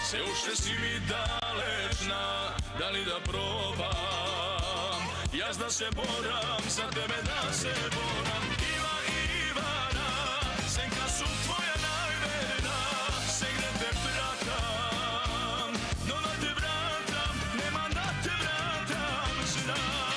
Se ušte si mi dalečna, da li da probam, ja zna se boram, za tebe da se boram. Ivana, senka su tvoja najverna, se gde te pratam, no da te vratam, nema da te vratam, znam.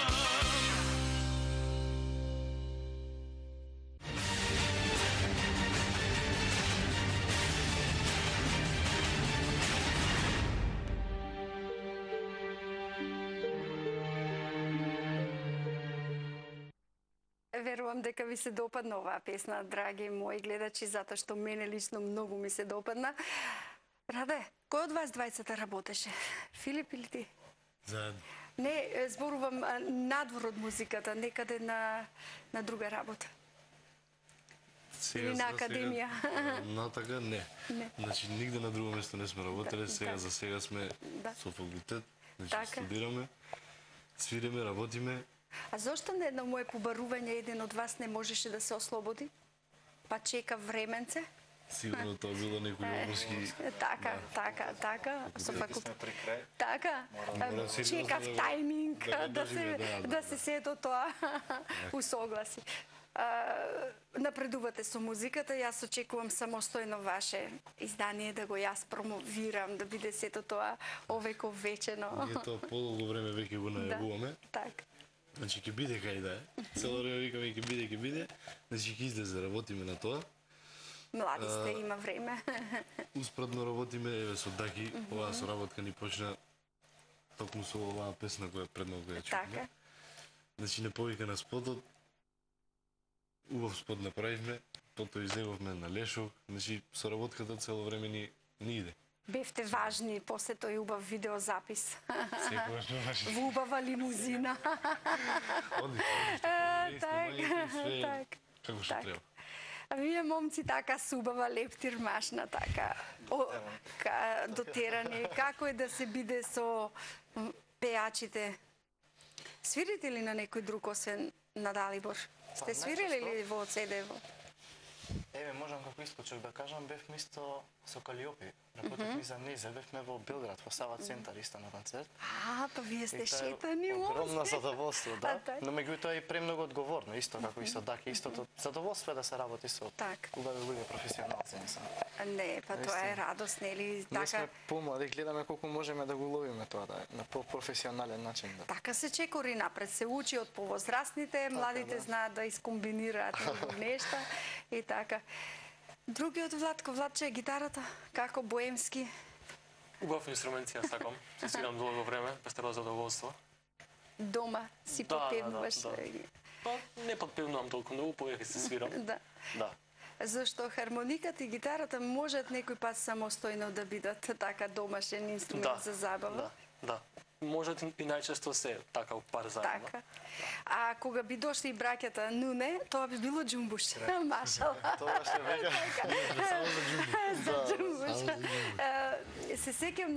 Верувам дека ви се допадна оваа песна, драги мои гледачи, затоа што мене лично многу ми се допадна. Раде, кој од вас двајцата работеше? Филип или ти? Заедно. Не, зборувам надвор од музиката, некаде на друга работа. Или на академија. Натака не. Значи нигде на друго место не сме работеле, сега за сега сме со факултет, значи студираме, свириме, работиме. А зошто на едно мое побарување еден од вас не можеше да се ослободи? Па чека временце? Сигурно тоа било некој обрски. Така. Со факултет. Така. Чекав тајминг да се сето тоа усогласи. Напредувате со музиката, јас очекувам самостојно ваше издание да го јас промовирам, да биде сето тоа овековечено. Ние тоа подолго време веќе го најавуваме. Така. Значи ќе биде кај да е. Цело време викаме ќе биде. Значи ќе излезе, работиме на тоа. Млади сте, има време. Успоредно работиме, еве со Даки, оваа соработка ни почна токму со оваа песна која пред малку ја чуваме. Така. Значи не повика на спотот. Убав спот направивме, потоа излеговме на Лешов. Значи соработката цело време ни иде. Бевте важни после тој убав видеозапис. Секогаш важни. Во убава лимузина. Так. Како што треба. А вие момци така субава лептир машна така. Дотерани. Како е да се биде со пејачите? Свирите ли на некој друг освен на Далибор? Сте свирили ли во Цедево? Еве, можам како искочок да кажам, бевме исто со Калиопи. Работевме за Незе, бевме во Белград, во Сава центар, исто на концерт. Па вие сте шетани момци. Огромно задоволство, да. Но меѓутоа и премногу одговорно, исто како исто Даки, истото задоволство е да се работи со убави луѓе професионалци, не сам. Не, па тоа е радост, нели? Ние сме помлади, гледаме колку можеме да го ловиме тоа, да, на професионален начин. Така се чекори напред, се учи од повозрастните, младите знаат да искомбинираат нешта и така. Другиот Владче, гитарата, како боемски? Убав инструмент си ја сакам, се свирам долго време, пестеро задоволство. Дома си попевнуваш? Па не попевнувам толку многу, повеќе се свирам. Да. Зашто хармониката и гитарата можат некој пат самостојно да бидат така домашен инструмент за забава? Да. Можат и најчесто се така пар заедно. Така. А кога би дошли и браќата Нуне, тоа би било џумбуш. Машала. Тоа ще веќе само за џумбуш. За џумбуш. Се сеќам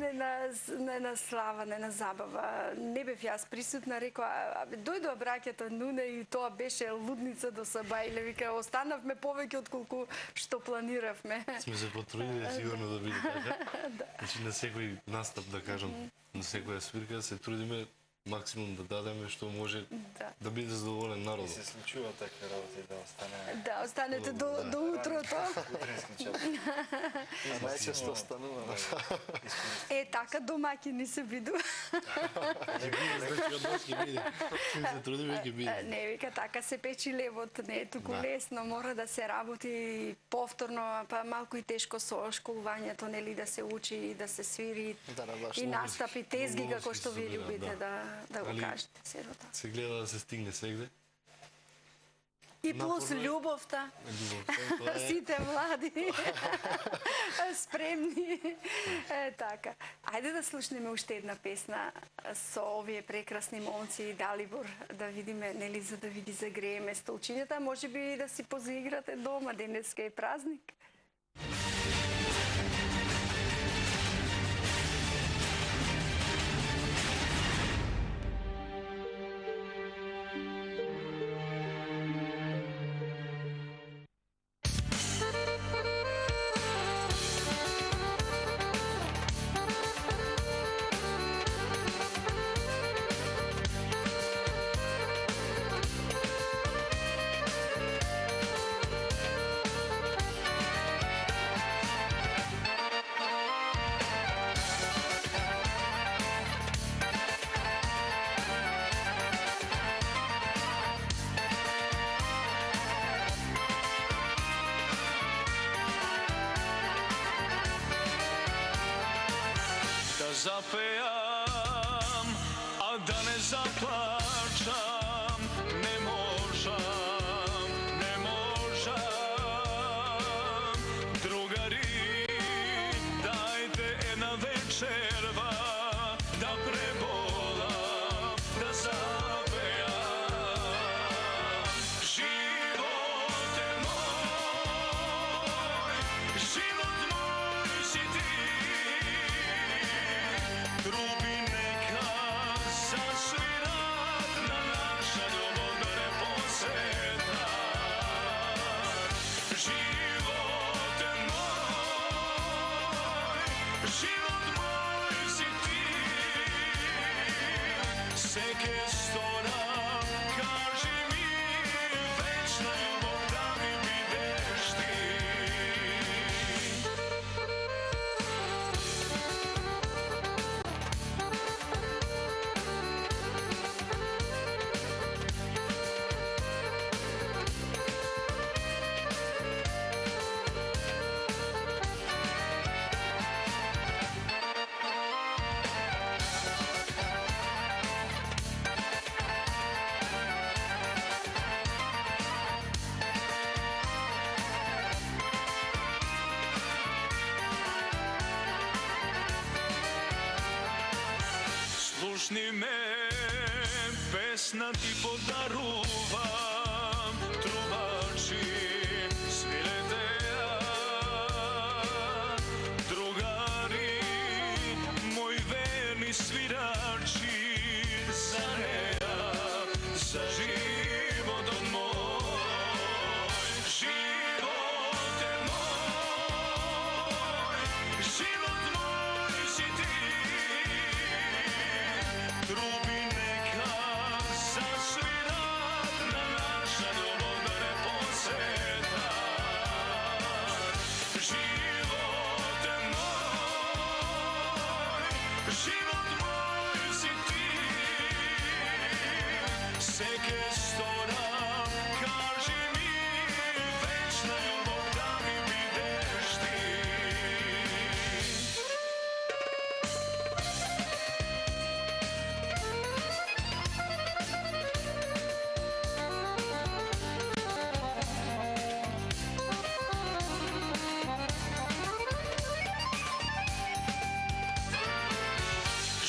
на слава, на забава. Не бев јас присутна, рекоа, дојдоа браќата Нуне и тоа беше лудница до Сабајле. Вика, останавме повеќе отколку што планиравме. Сме се потрудили сигурно да биде така. Значи на секој настап, да кажам, на секоја свирка се трудиме максимум да дадеме што може да биде задоволен народот. И се случува такви работи да остане. Да, останете до утрото. Утренски час. И најчесто останува. Така домаќини се видува. Значи од нас ќе биде. Се трудиме ќе биде. Не, вика, така се печи левот, не е туку лесно, мора да се работи повторно, па малку и тешко со школувањето, нели, да се учи и да се свири и настапи тезги, како што ви любите да го кажете, сирота. Се гледа да се стигне сегде. И плюс љубовта. Сите млади. Спремни. Така. Ајде да слушнеме уште една песна со овие прекрасни момци и Далибор, да видиме, нели, за да ви ги загрееме столчињата, можеби да си позаиграте дома, денеска е празник. Zapejam, a da ne zaplačam, ne možam, ne možam. Drugari, dajte jedna večerva, da prebolam, da zapejam. Živote moj, život moj si ti. Trubi neka zasvirat na naša ljubavna poseta. Živote moj, život moj si ti. Seke stora, kaži mi, večna ljubav da mi bideš ti. Slušni me, pesna ti podaruvam, trubači, svirajte ja. Drugari, moj verni svirači, za neja, za život moj. Živote moj, život moj si ti. Trubi neka zasvirat na naša ljubavna poseta. Živote moj, život moj si ti. Seke stora, kaži mi, večna ljubav da mi bideš ti.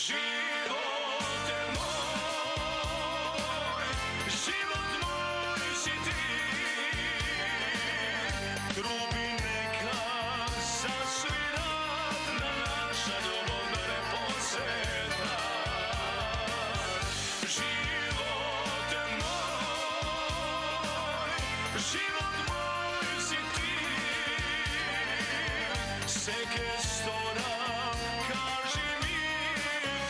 Živote moj, život moj si ti. Trubi neka zasvirat na naša ljubavna poseta. Živote moj, život moj si ti. Seke stora, kaži mi,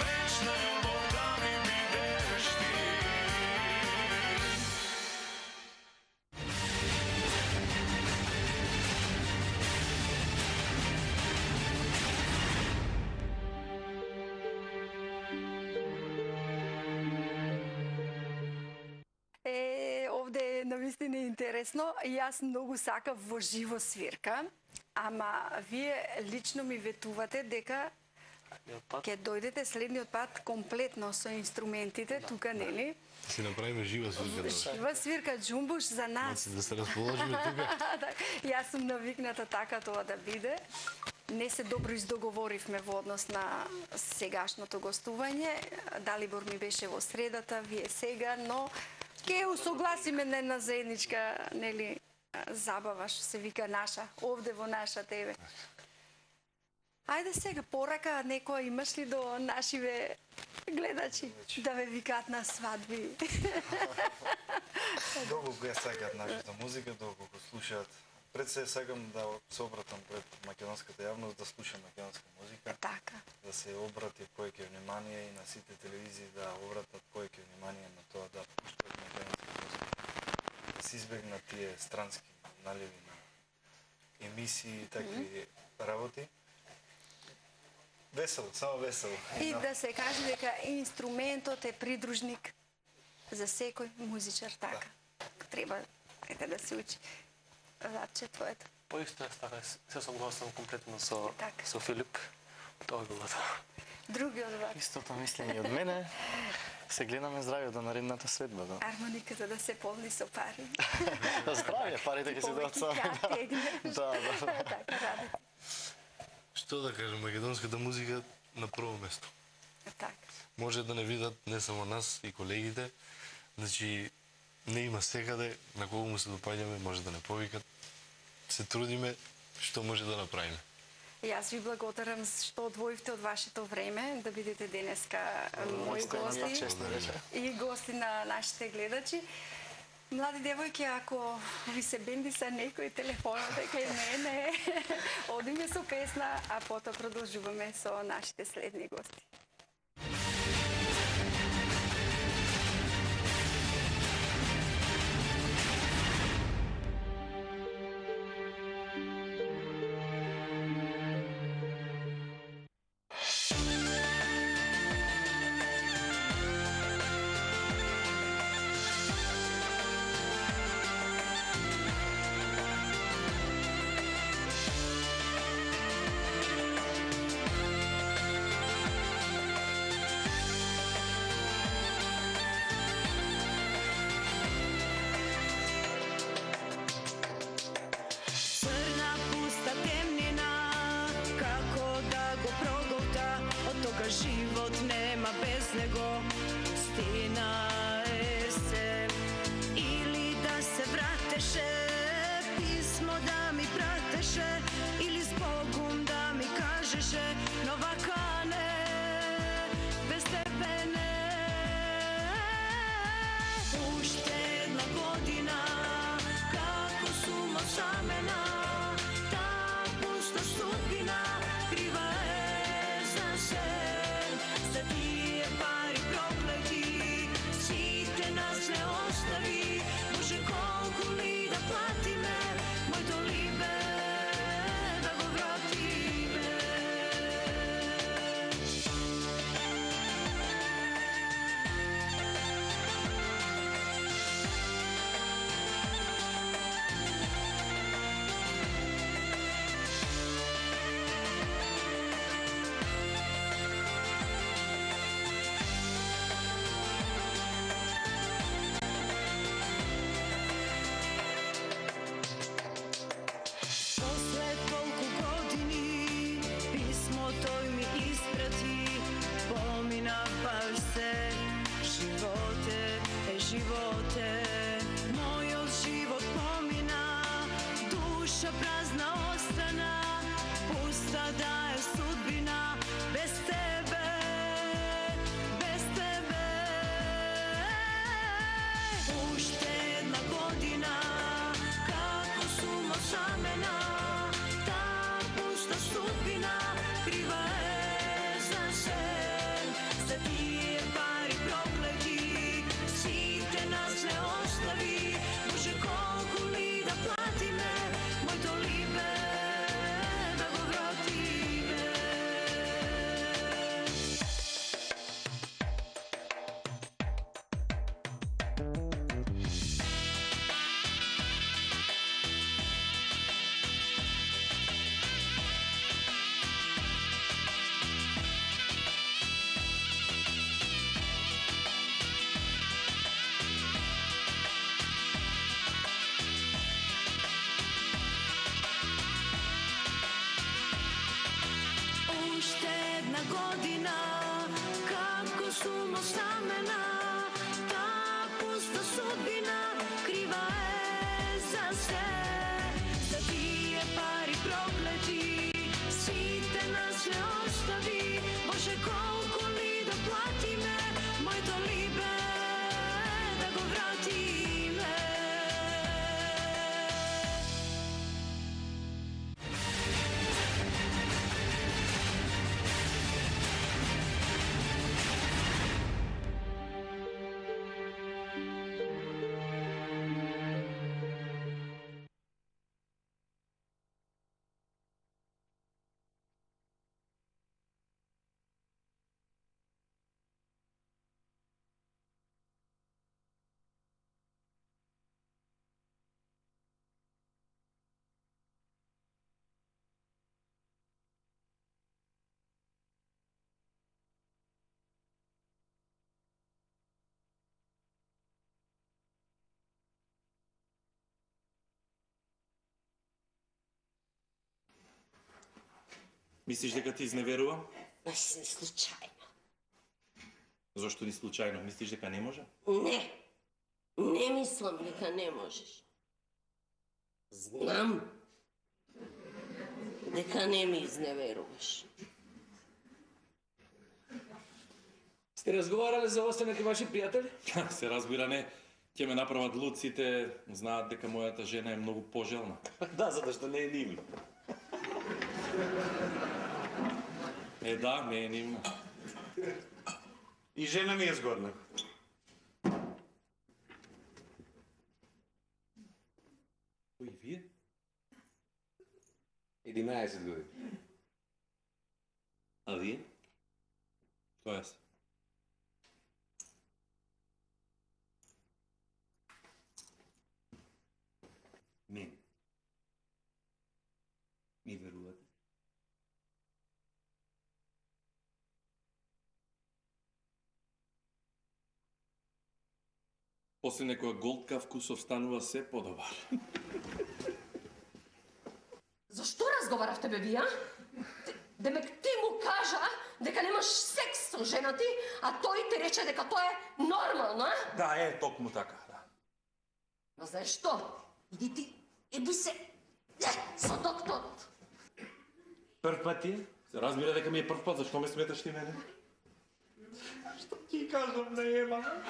večna ljubav da mi bideš ti. навистина интересно. Јас многу сакав во живо свирка, ама вие лично ми ветувате дека ќе дојдете следниот пат комплетно со инструментите, тука, нели? Си направиме жива свирка. Жива свирка джумбуш за нас. Да се расположиме тука. Јас сум навикната така тоа да биде. Не се добро издоговоривме во однос на сегашното гостување. Далибор ми беше во средата, вие сега, но ќе усогласиме на една заедничка, нели, забава, што се вика наша, овде во наша ТВ. Ајде сега, порака некоја имаш ли до нашиве гледачи да ве викаат на свадби? Долго го ја сакаат нашата музика, долго го слушаат. Пред се сакам да се обратам пред македонската јавност, да слуша македонска музика. Така. Да се обрати повеќе внимание и на сите телевизии да обратат повеќе внимание на тоа да пуштат македонска музика. Да се избегнат тие странски наливи на емисии и такви работи. Весело, само весело. И да се каже дека инструментот е придружник за секој музичар, така. Треба да се учи. Владче, твоето. По исто јас така се согласувам комплетно со Филип. Тоа било тоа. Другиот вај. Истото мислење од мене. Се гледаме здравје до наредната свадба, да. Армониката да се полни со пари. Здравје, парите ќе се дојдат сами. Да. Така ради. Што да кажем, македонската музика на прво место. Така. Може да не видат не само нас и колегите, значи не има секаде, на кого му се допаѓаме, може да не повикат. Се трудиме што може да направиме. Јас ви благодарам што одвоивте од вашето време да бидете денеска мои гости и гости на нашите гледачи. Млади девојки, ако ви се бендиса некој телефонот кај мене, одиме со песна, а потоа продолжуваме со нашите следни гости. Život nema bez nego, stina je se. Ili da se vrateše, pismo da mi prateše, ili s Bogom da mi kažeše, Novakane, bez tebe ne. Uštedna godina, kako suma samena, ta pusta sudbina, kriva je za sve. Pari prokleti, site nas ne ostavi, Bože koliko li da plati me, moj dolina. Мислиш дека ти изневерувам? Случајно. Зошто ни случајно? Мислиш дека не може? Не мислам дека не можеш. Знам дека не ми изневеруваш. Сте разговарале за останати ваши пријатели? Се разбира не. Ќе ме направат луд, сите знаат дека мојата жена е многу пожелна. Да, затоа што не е нивна. Да, не е нивна. И жена ми е згодна. Кој вие? 11 години. А вие? Тоа е. Мен. Ми верувате? После некоја голтка вкусов станува се подобар. Зашто разговаравте, бе, вие? Демек ти му кажа дека немаш секс со жена ти, а тој ти рече дека тоа е нормално, а? Да, токму така, да. Но знаеш што? Иди ти, иди се со докторот. Прв пат ти? Се разбира дека ми е прв пат, зашто ме сметаш ти мене? Што ти кажам на Ема?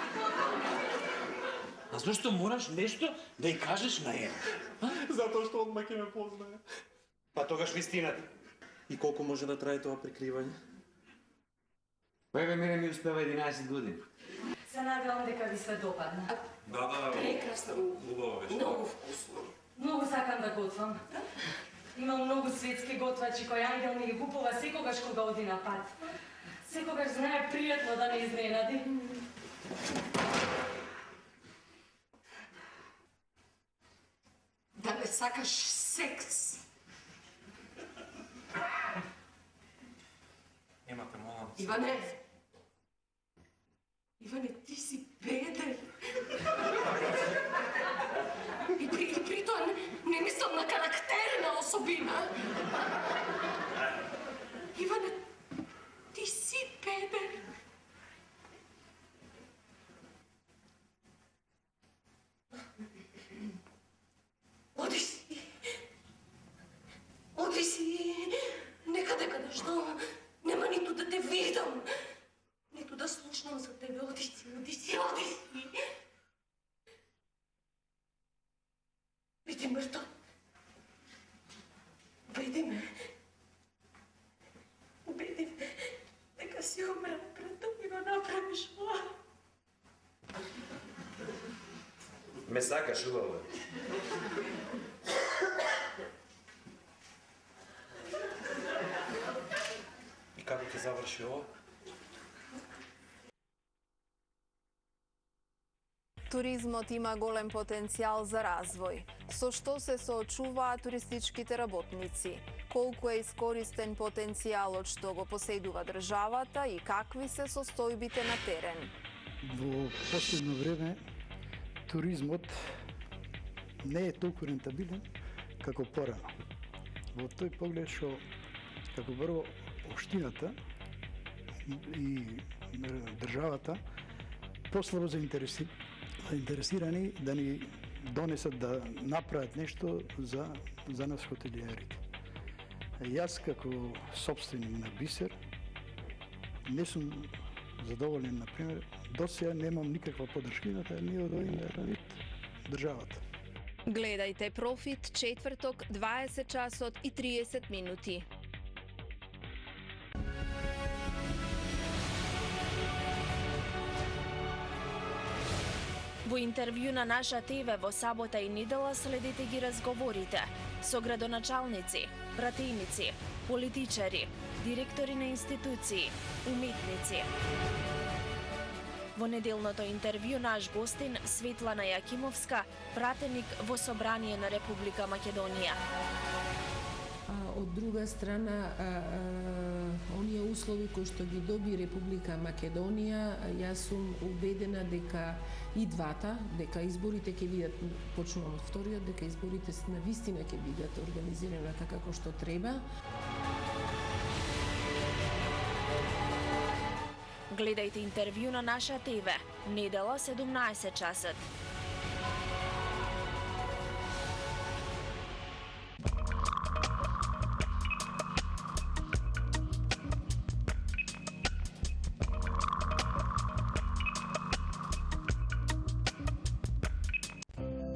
А зашто мораш нешто да ја кажеш на Ема? Затоа што одма ќе ме познае. Па тогаш вистината. И колку може да трае тоа прикривање? Бебе, мене ми успева 11 години. Се надевам дека ви се допадна. Да. Прекрасно. Убаво беше. Многу вкусно. Многу сакам да готвам. Имам многу светски готвачи кои Ангел ми ги купува секогаш кога оди на пат. Секогаш знае пријатно да не изненади. Да не сакаш секс. Емате, молам се. Иване, ти си беден. И при тоа не мислам на карактерна особина. Иване, ти си беден. Оди си. Некаде каде што нема ниту да те видам, ниту да слушнам за тебе. Оди си. Биди мртов. Биди ме. Дека си умрел пред тоа ми го направиш ова. Ме сакаш, убаво. И како ќе заврши ова? Туризмот има голем потенцијал за развој. Со што се соочуваат туристичките работници? Колку е искористен потенцијалот што го поседува државата и какви се состојбите на терен? Во последно време туризмот не е толку рентабилен како порано. Во тој поглед што како прво општината и државата послабо заинтересирани да ни донесат да направат нешто за нас хотелиерите. Јас како собственик на Бисер не сум задоволен, например, досега немам никаква поддршка ни од овој државата. Гледајте Профит четврток 20 часот и 30 минути. Во интервју на наша ТВ во сабота и недела следите ги разговорите со градоначалници, пратеници, политичари, директори на институции, уметници. Во неделното интервју наш гостин Светлана Јакимовска, пратеник во Собрание на Република Македонија. Од друга страна, оние услови кои што ги доби Република Македонија, јас сум убедена дека и двата, дека изборите ќе бидат, почнувам од вториот, дека изборите на вистина ќе бидат организирани така како што треба. Гледајте интервју на наша ТВ, недела 17 часот.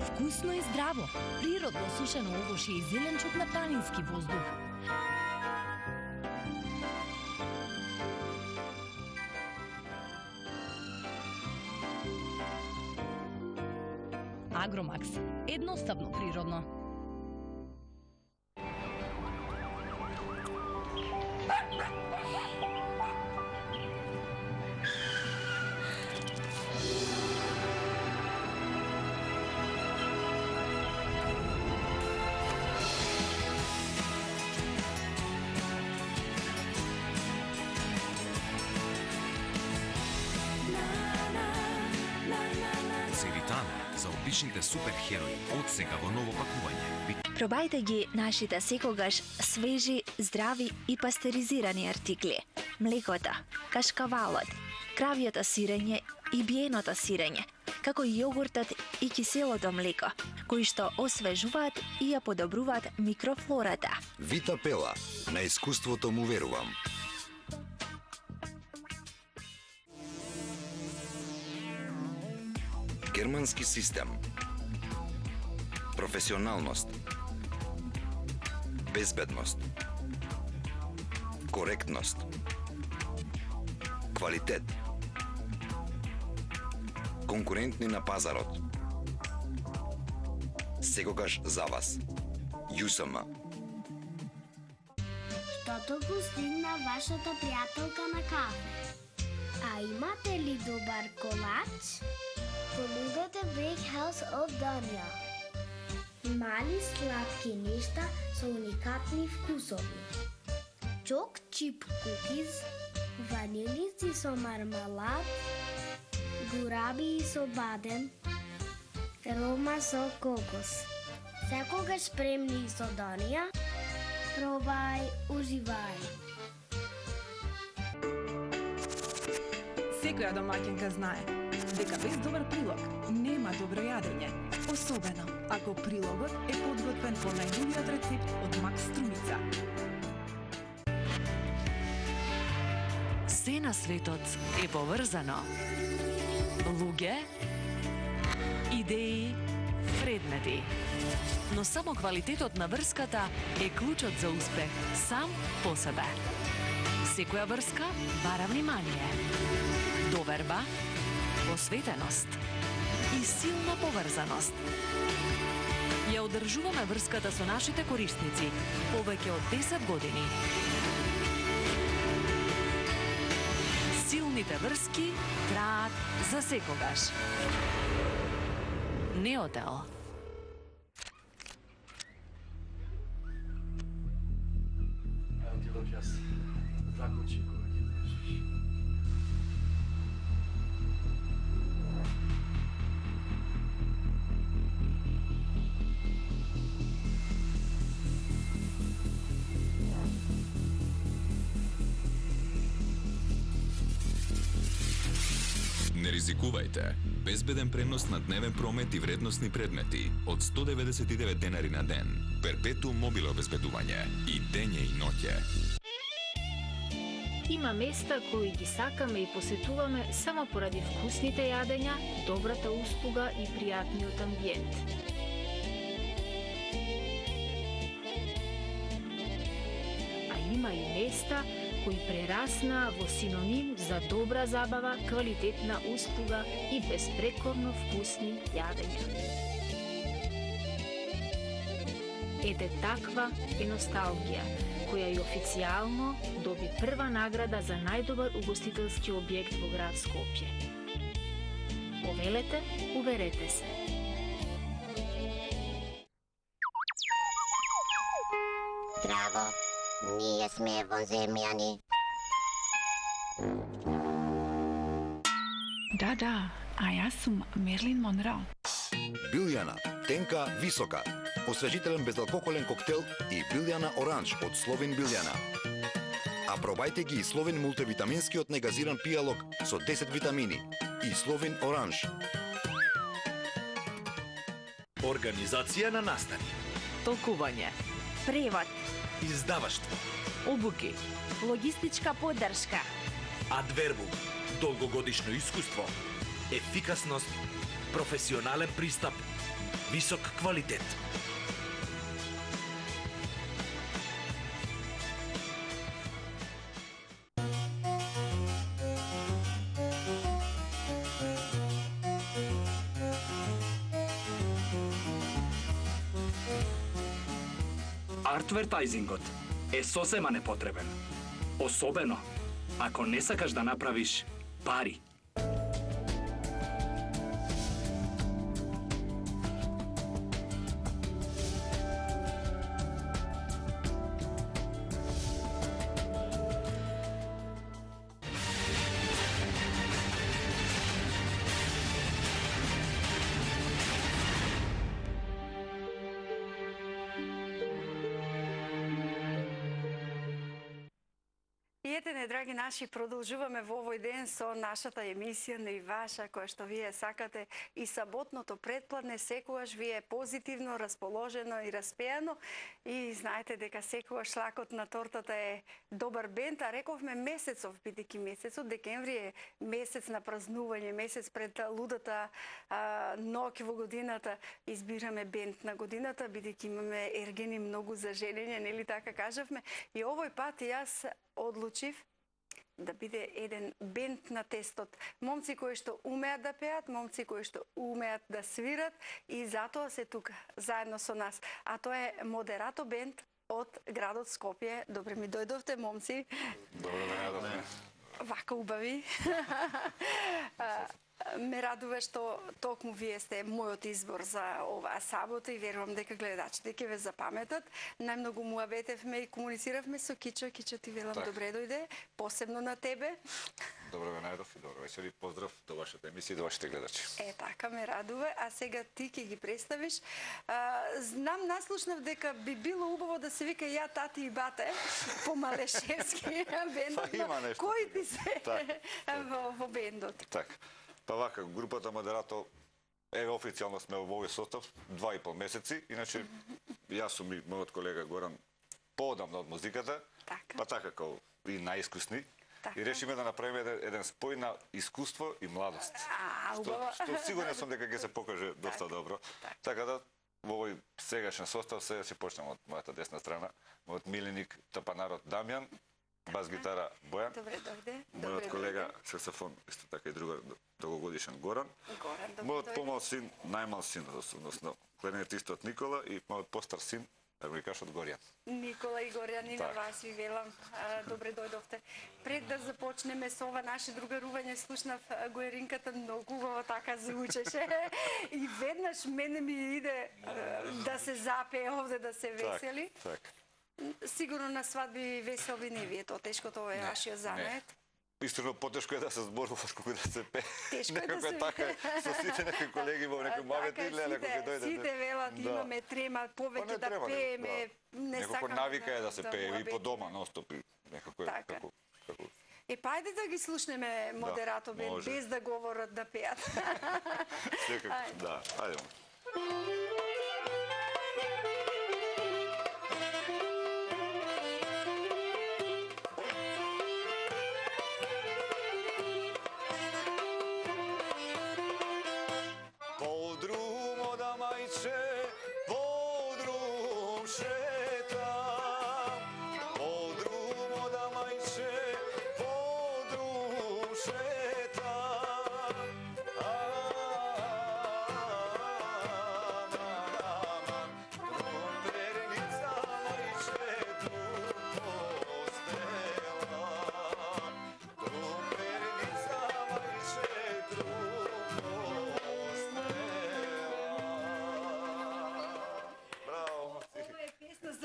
Вкусно и здраво, природно сушено овошје и зеленчук на планински воздух. Агромакс. Едноставно природно. За обичните суперхерои од сега во ново пакување. Пробајте ги нашите секогаш свежи, здрави и пастеризирани артикли. Млекото, кашкавалот, кравјото сирење и биеното сирење, како и јогуртот и киселото млеко, кои што освежуваат и ја подобруваат микрофлората. Вита Пела, на искуството му верувам. Германски систем. Професионалност. Безбедност. Коректност. Квалитет. Конкурентни на пазарот. Секогаш за вас. ЮСМ. Штото го стигна вашата пријателка на кафе. А имате ли добар колач? Понудете Bakehouse од Данија. Мали сладки нешта со уникатни вкусови. Чок чип кукиз, ванилици со мармелад, гураби со бадем, рома со кокос. Секогаш спремни со Данија. Пробај, уживај. Секоја домаќинка знае дека без добар прилог нема добро јадење, особено ако прилогот е подготвен по најновиот рецепт од Макс Струмица. Се на светот е поврзано. Луѓе, идеи, предмети. Но само квалитетот на врската е клучот за успех сам по себе. Секоја врска бара внимание, доверба, посветеност и силна поврзаност. Ја одржуваме врската со нашите корисници повеќе од 10 години. Силните врски траат за секогаш. Неотел. Не ризикувајте. Безбеден пренос на дневен промет и вредносни предмети од 199 денари на ден. Перпетуум мобиле обезбедување и дење и ноќе. Има места кои ги сакаме и посетуваме само поради вкусните јадења, добрата услуга и пријатниот амбиент. А има и места кои прераснаа во синоним за добра забава, квалитетна услуга и безпрекорно вкусни јадења. Ете таква е носталгија, која и официјално доби прва награда за најдобар угостителски објект во град Скопје. Повелете, уверете се. Здраво, ние сме воземјани. Да, а јас сум Мерлин Монро. Билјана, тенка, висока. Освежителен безалкохолен коктел и Билјана Оранж од Словен Билјана. А пробајте ги и Словин мултивитаминскиот негазиран пијалок со 10 витамини и Словин оранж. Организација на настани. Толкување. Превод. Издаваштво. Обуки. Логистичка поддршка. Адвербум. Долгогодишно искуство. Ефикасност. Професионален пристап. Висок квалитет. Артвертајзингот е сосема непотребен. Особено ако не сакаш да направиш пари. Драги наши, продолжуваме во овој ден со нашата емисија на и ваша, која што вие сакате и саботното предпладне, секогаш вие позитивно, расположено и распеано и знаете дека секогаш шлакот на тортата е добар бенд, а рековме месецов, бидејќи месецот декември е месец на празнување, месец пред лудата ноќ во годината, избираме бенд на годината, бидејќи имаме ергени многу за женење, нели така кажавме, и овој пат јас одлучив да биде еден бенд на тестот. Момци кои што умеат да пеат, момци кои што умеат да свират и затоа се тука заедно со нас. А тоа е Модерато бенд од градот Скопје. Добре ми дојдовте, момци. Добре ме најдовме. Вака убави. Ме радува што токму вие сте мојот избор за оваа сабота и верувам дека гледачите ќе ве запаметат. Најмногу муабетевме и комунициравме со Кичо. Кичо, ти велам добре дојде, посебно на тебе. Добре ме најдов и добро вечер и поздрав до вашата емисија и до вашите гледачи. Така ме радува, а сега ти ќе ги представиш. Знам, наслушнав дека би било убаво да се вика ја, тати и бате, по малешевски бендот. Има нешто. Кои ти се во бендот? Така. Па вака, групата Модерато, еве официјално сме во овој состав 2,5 месеци, иначе јас сум и мојот колега Горан поодамна од музиката, па така како и најискусни, и решиме да направиме еден спој на искуство и младост. Што сигурен сум дека ќе се покаже доста добро. Така да, во овој сегашен состав, сега ќе почнем од мојата десна страна, мојот миленик тапанарот Дамјан, бас гитара Бојан, мојот колега саксофон, исто така и другар долгогодишен Горан, мојот помал син, најмал син, односно кларинетистот Никола и мојот постар син, армоникашот Горјан. Никола и Горјан, и на вас ви велам, добре дојдовте. Пред да започнеме со ова наше другарување, слушнав Гоеринката, многу убаво така звучеше и веднаш мене ми иде да се запее овде, да се весели. Сигурно на свадби и веселби не ви е тоа тешко, тоа е вашиот занет. Истинно потешко е да се зборуваш колку да се пее. Тешко е да се така со сите некои колеги во некој мавет или некој ќе дојде. Сите велат имаме трема повеќе да пееме, не сакаме. Некако навика е да се пее и по дома ностоп некако како. Пајде да ги слушнеме Модерато бенд без да говорат да пеат. Секако, да, ајде.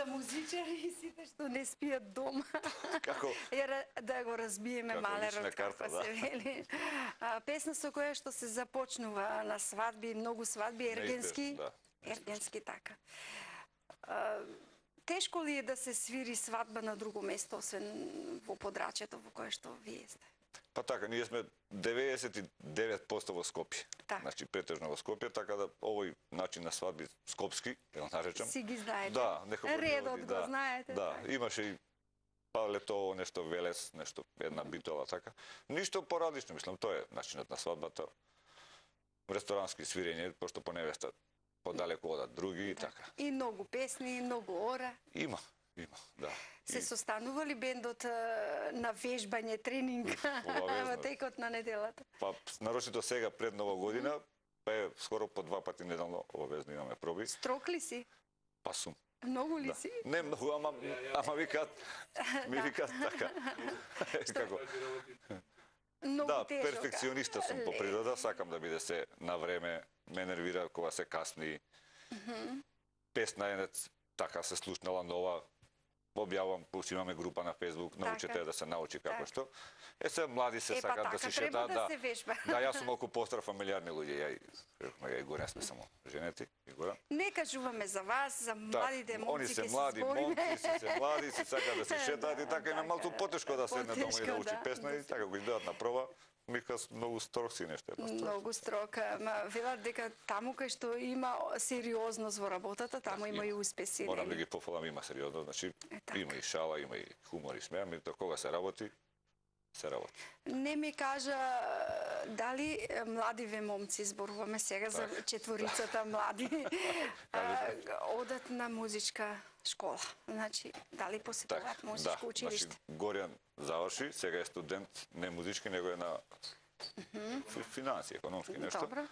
Музичари и сите што не спијат дома. Како? Да го разбиеме малерот, како се вели. Песна со која што се започнува на свадби, многу свадби, ергенски. Ергенски, така. Тешко ли е да се свири свадба на друго место, освен во подрачјето во кое што вие сте? Па така, ние сме 99% во Скопје. Значи, претежно во Скопје, така да овој начин на свадби скопски, ја наречам. Си ги знаете. Да, некако редот го знаете. Да, имаше и па летово, нешто Велес, нешто една битола, така. Ништо поразлично, мислам, тоа е начинот на свадбата. Ресторански свирење, пошто по невеста подалеку одат други и така. И многу песни, и многу ора. Има, да. Се состанува ли бендот на вежбање, тренинг во текот на неделата? Па, нарочито сега пред Нова година, па е скоро по 2 пати неделно обавезно имаме проби. Строг ли си? Па сум. Многу ли си? Не многу, ама ми викат така. Како? Да, перфекциониста сум по природа, сакам да биде се на време, ме нервира кога се касни. Песна е така се слушнала нова, објавам, имаме група на Facebook, научете да се научи како што. Се млади се сакат да се шетаат. Да се вежба. Да, јас сум малку постар фамилиарни луѓе, ја и Горен сме само женети, и Горан. Не кажуваме за вас, за младите момци, они се млади момци, се млади, се сакаат да се шетаат и така им е малку потешко да седне дома и да учи песна и така го идеат на проба. Мика многу строг си нешто. Многу строг, ма велат дека таму кај што има сериозност во работата, таму има и успеси. Морам да ги пофалам, има сериозност, значи има и шала, има и хумор и смеа, меѓутоа кога се работи, се работи. Не ми кажа дали младиве момци, зборуваме сега за четворицата млади, одат на музичка школа. Значи, дали посетуваат музичко училиште? Значи, Горјан заврши, сега е студент, не музички, него е на финанси, економски нешто. Добро.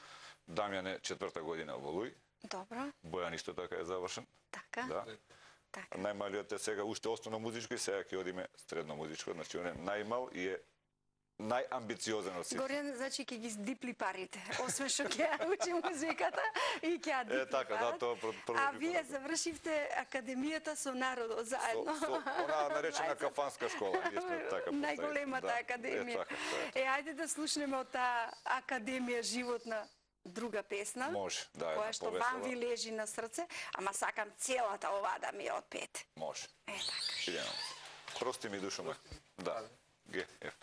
Дамјан е 4-та година во Луј. Добро. Бојан исто така е завршен. Така. Да. Најмалиот е сега уште основно музичко и сега ќе одиме средно музичко, значи он е најмал и е најамбициозен од сите. Горјан, значи ќе ги дипли парите, освен што ќе учи музиката и ќе ја дипли така, да, тоа прво. А вие завршивте академијата со народот заедно. Она наречена кафанска школа, ние сме така поставени. Најголемата академија. Ајде да слушнеме од таа академија животна друга песна, може, да, која што вам ви лежи на срце, ама сакам целата оваа да ми отпеете. Може. Така. Идемо. Прости ми душа моја. Да. Г, Ф.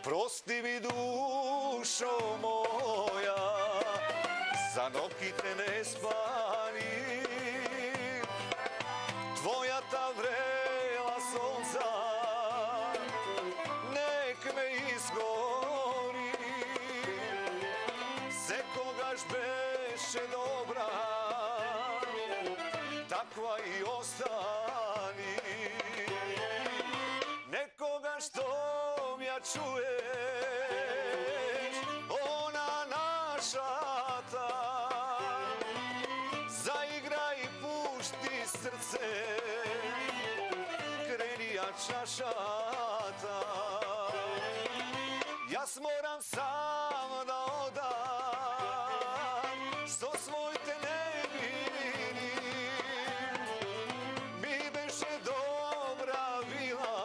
Прости ми душо моја, за ноќите не спани, твојата врела сонца нек ме изгори. Секогаш беше добра, таква и остани. Некогаш том ја чуеш, она нашата, заиграј и пушти срце, крени ја чашата. Јас морам сам да одам со своите невини, ми беше добра била,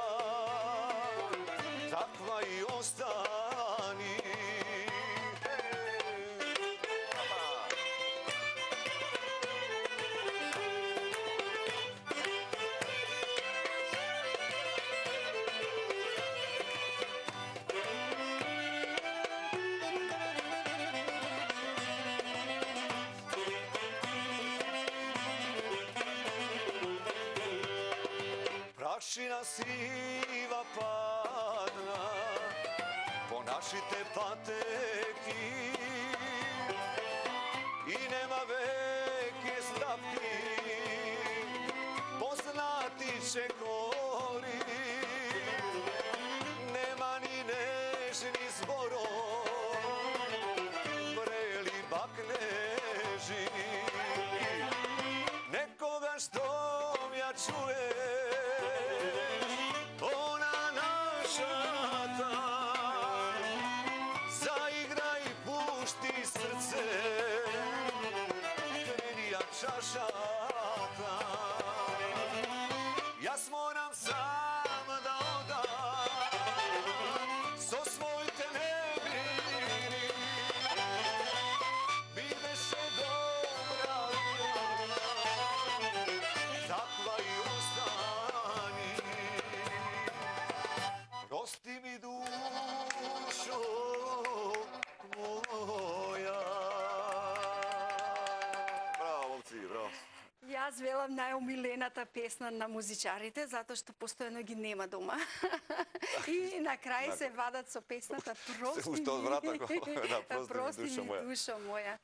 таква и остани. Прашина сива падна по нашите патеки и нема веќе стапки, познати чекори, нема ни нежни зборови, врели бакнежи. Некогаш том ја чуеш, она наша чашата. Јас морам сам да одам со своите небини. Би беше добра, таква и остани. Прости ми душо моја. Браво, момци, браво. Јас велам најомилената песна на музичарите, затоа што постојано ги нема дома. И на крај се вадат со песната Прости ми душо моја.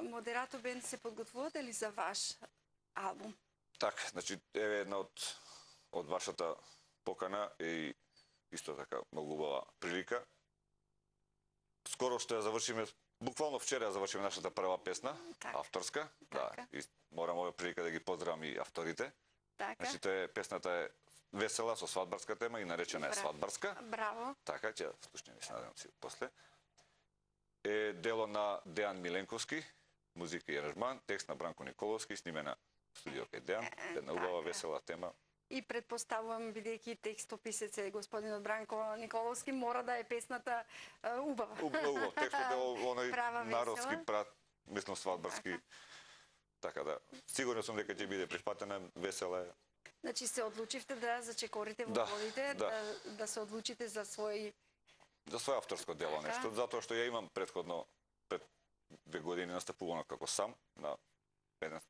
Модератор Бенд, се подготвувате ли за ваш албум? Так, значи, еве една од вашата покана и исто така многу убава прилика. Скоро што ја завршиме, буквално вчера ја завршиме нашата прва песна, авторска. Да, и морам овој прилика да ги поздравам и авторите. Значи, песната е весела со свадбарска тема и наречена е Свадбарска. Браво. Така, ќе слушнеме, се надевам си после. Е дело на Дејан Миленковски, музика и аранжман, текст на Бранко Николовски, снимена в студио кај Дејан, една убава весела тема. И предпоставувам, бидејќи текстописец е господинот Бранко Николовски, мора да е песната убава. Убав, текстот е оној народски прат, мислам свадбарски. Така да, сигурно сум дека ќе биде прифатена, весела е. Значи се одлучивте да зачекорите во водите, да се одлучите за свој авторско дело нешто, затоа што ја имам предходно, пред 2 години настапувано како сам на еден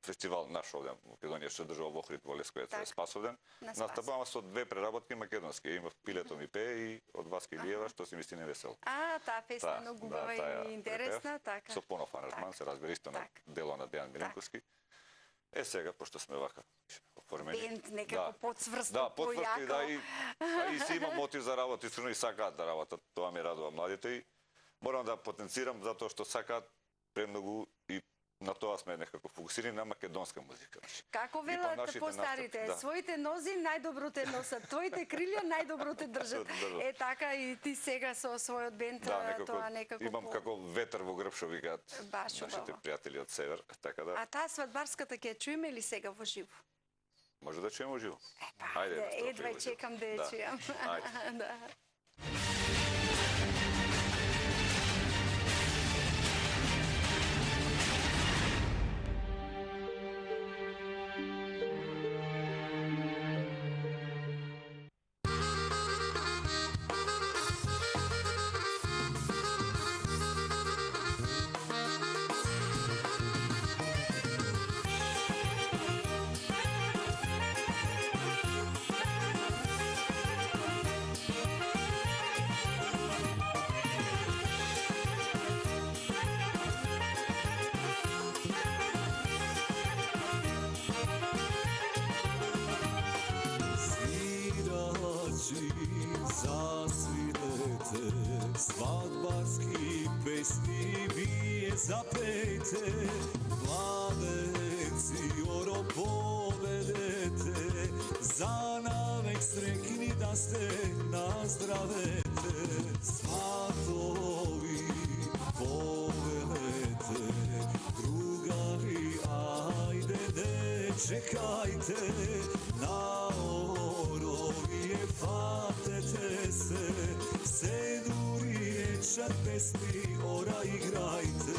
фестивал наш овде во Македонија, што држава во Охрид, во Лесковец, Спасовден. Настапувам со 2 преработки македонски. Има Пилето ми пее и од Васки Илиева, што си мисли невесел. Таа песна многу убава и интересна, така. Со понов аранжман, се разбира исто на дело на Дејан Миленковски. Сега, пошто сме вака оформени. Бенд некако подсврстно, да, подсврстно, да, и си имам мотив за работа, и сакаат да работат, тоа ми радува младите и морам да потенцирам затоа што сакаат премногу и на тоа сме некако фокусирани на македонска музика. Како велат постарите, своите нози најдобро те носат, твоите крилја најдобро те држат. Е така и ти сега со својот бенд, тоа некако имам како ветер во грб, што викаат нашите пријатели од север, така да. А таа свадбарската ќе чуеме ли сега во живо? Може да чуеме во живо. Ајде, едва чекам да ја чујам. Ајде. Свадбарски песни вие запејте, младенци оро поведете, за навек срекни да сте наздравете. Сватови повелете, другари ајде не чекајте, на оровие фатете се дури речат песни, ора играјте.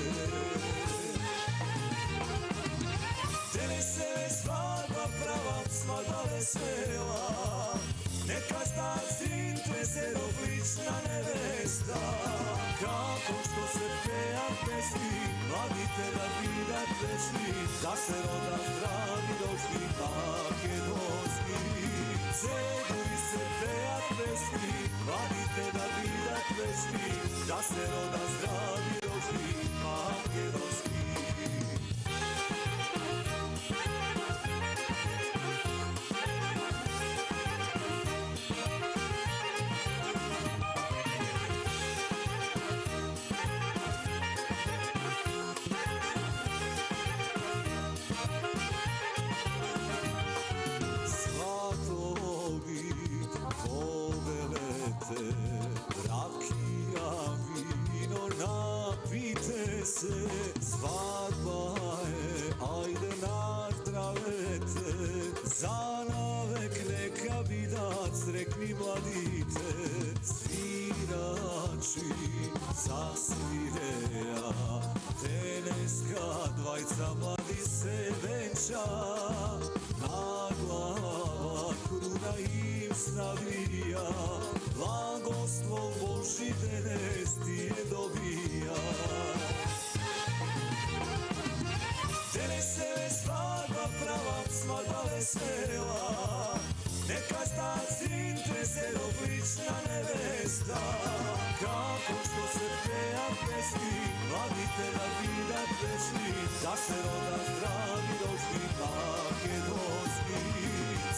Денес е свадба права, свадба весела, нека стаат сите се одлична невеста. Како што се пеат песни, младите да бидат вечни, да се родат здрави дошли македонски. Се дури се пеат песни, младите да бидат вечни, да се родат здрави дошли македонски. Сватови повелете, ракија ви Pozrekni mladite, svirači zasvireja, teneska dvajca mladi se venča, na glava kruna im snavija, blagoslov Boži tenes ti je dobija. Tenes se svadba prava, svadba vesela, neka staci trese oblična nevesta, kako što se peja pesmi, mladite da vidat večni, da se roda zdravi ročni makedonski.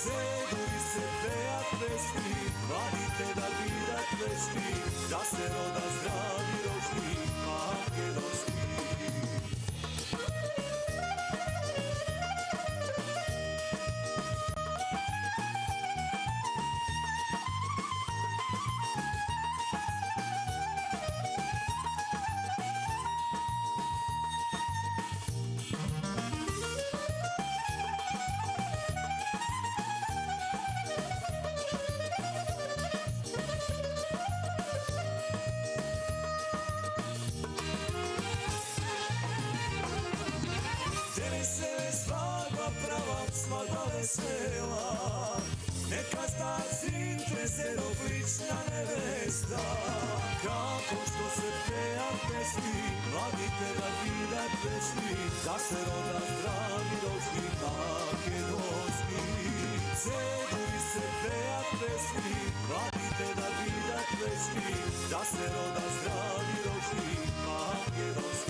Ceduri se peja pesmi, mladite da vidat večni, da se roda zdravi ročni makedonski. Neka staci trese oblična nevesta, kako što se peja pesmi, mladite da vidat večni, da se roda zdravi ročni makedonski. Ceduri se peja pesmi, mladite da vidat večni, da se roda zdravi ročni makedonski.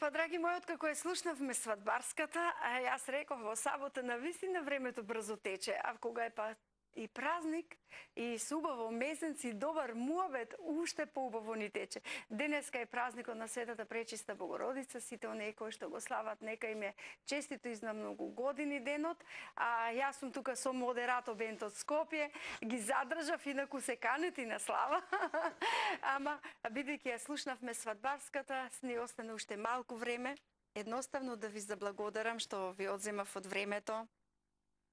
Па, драги мои, откако ја слушнавме свадбарската, јас реков во сабота навистина времето брзо тече, а кога е па и празник, и субаво месец, и добар муабет, уште поубаво ни тече. Денеска е празникот на Светата Пречиста Богородица, сите оние кои што го слават, нека им е честито и на многу години денот. А јас сум тука со модерато Бентот Скопје, ги задржав, инаку се канети на слава. Ама, бидејќи ја слушнавме свадбарската, ни остане уште малку време. Едноставно да ви заблагодарам што ви одземав од времето.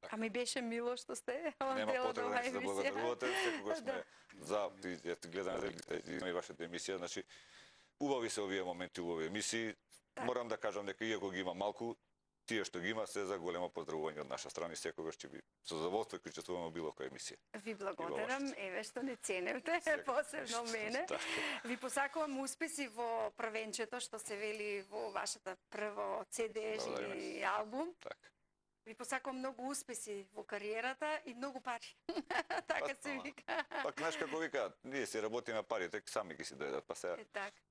А ми беше мило што сте Нема потреба да благодарувате, секогаш сме за, ја гледаме и вашата емисија, значи убави се овие моменти, убави емисии. Морам да кажам дека иако ги има малку, тие што ги има се за големо поздравување од наша страна и секогаш ќе би со задоволство ќе учествуваме во било која емисија. Ви благодарам, еве што не ценевте, посебно мене. Ви посакувам успеси во првенчето што се вели во вашата прво CD и албум. Ви посакувам многу успеси во кариерата и многу пари. Така се вика. Пак, знаеш како викаат, ние си работиме парите, сами ги си дојдат, па сега. Така.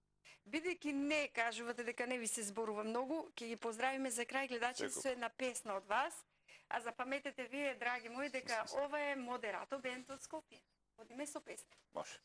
Бидејќи не кажувате дека не ви се зборува многу, ќе ги поздравиме за крај гледачите со една песна од вас. А запаметете вие, драги мои, дека ова е Модерато Бенд од Скопје. Одиме со песна. Може.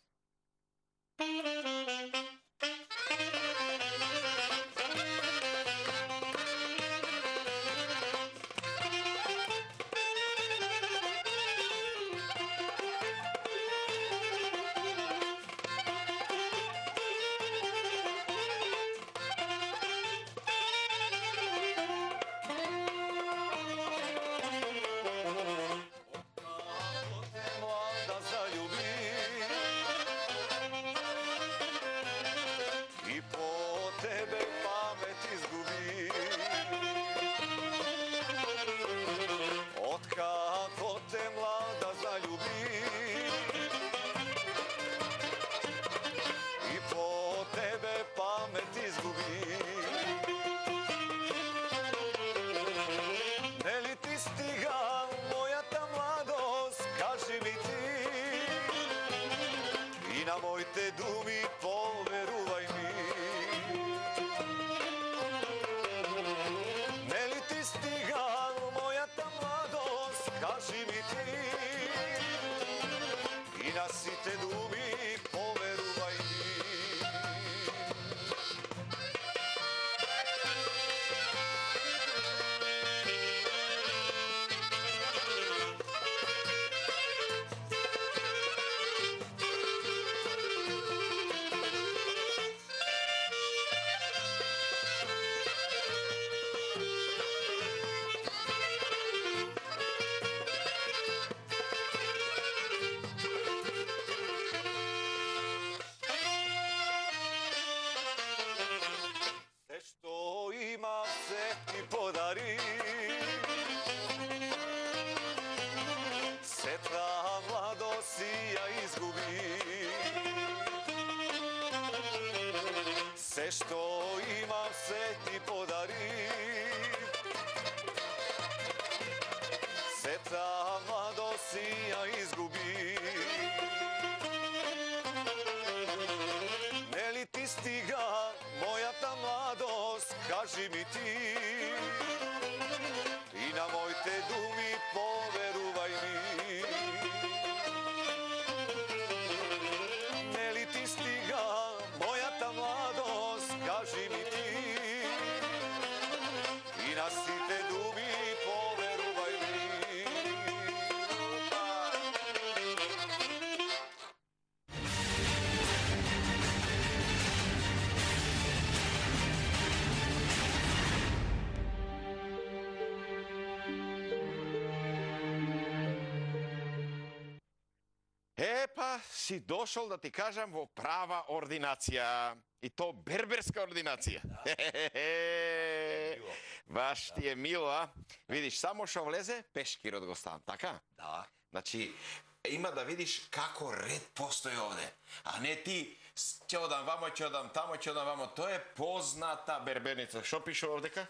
што имам се ти подари. Сета младост ја изгуби. Нели ти стига мојата младост, кажи ми ти. И на моите думи поверувај ми. Нели ти стига мојата младост, кажи ми ти. И на сите думи поверувај ми. Епа, си дошол да ти кажам во права ординација. И то берберска ординација. Баш ти е мило, а? Видиш, само што влезе, пешкирот го ставам, така? Да. Значи, има да видиш како ред постои овде. А не ти, ќе одам вамо, ќе одам тамо, ќе одам вамо. Тоа е позната берберница. Што пише овдека?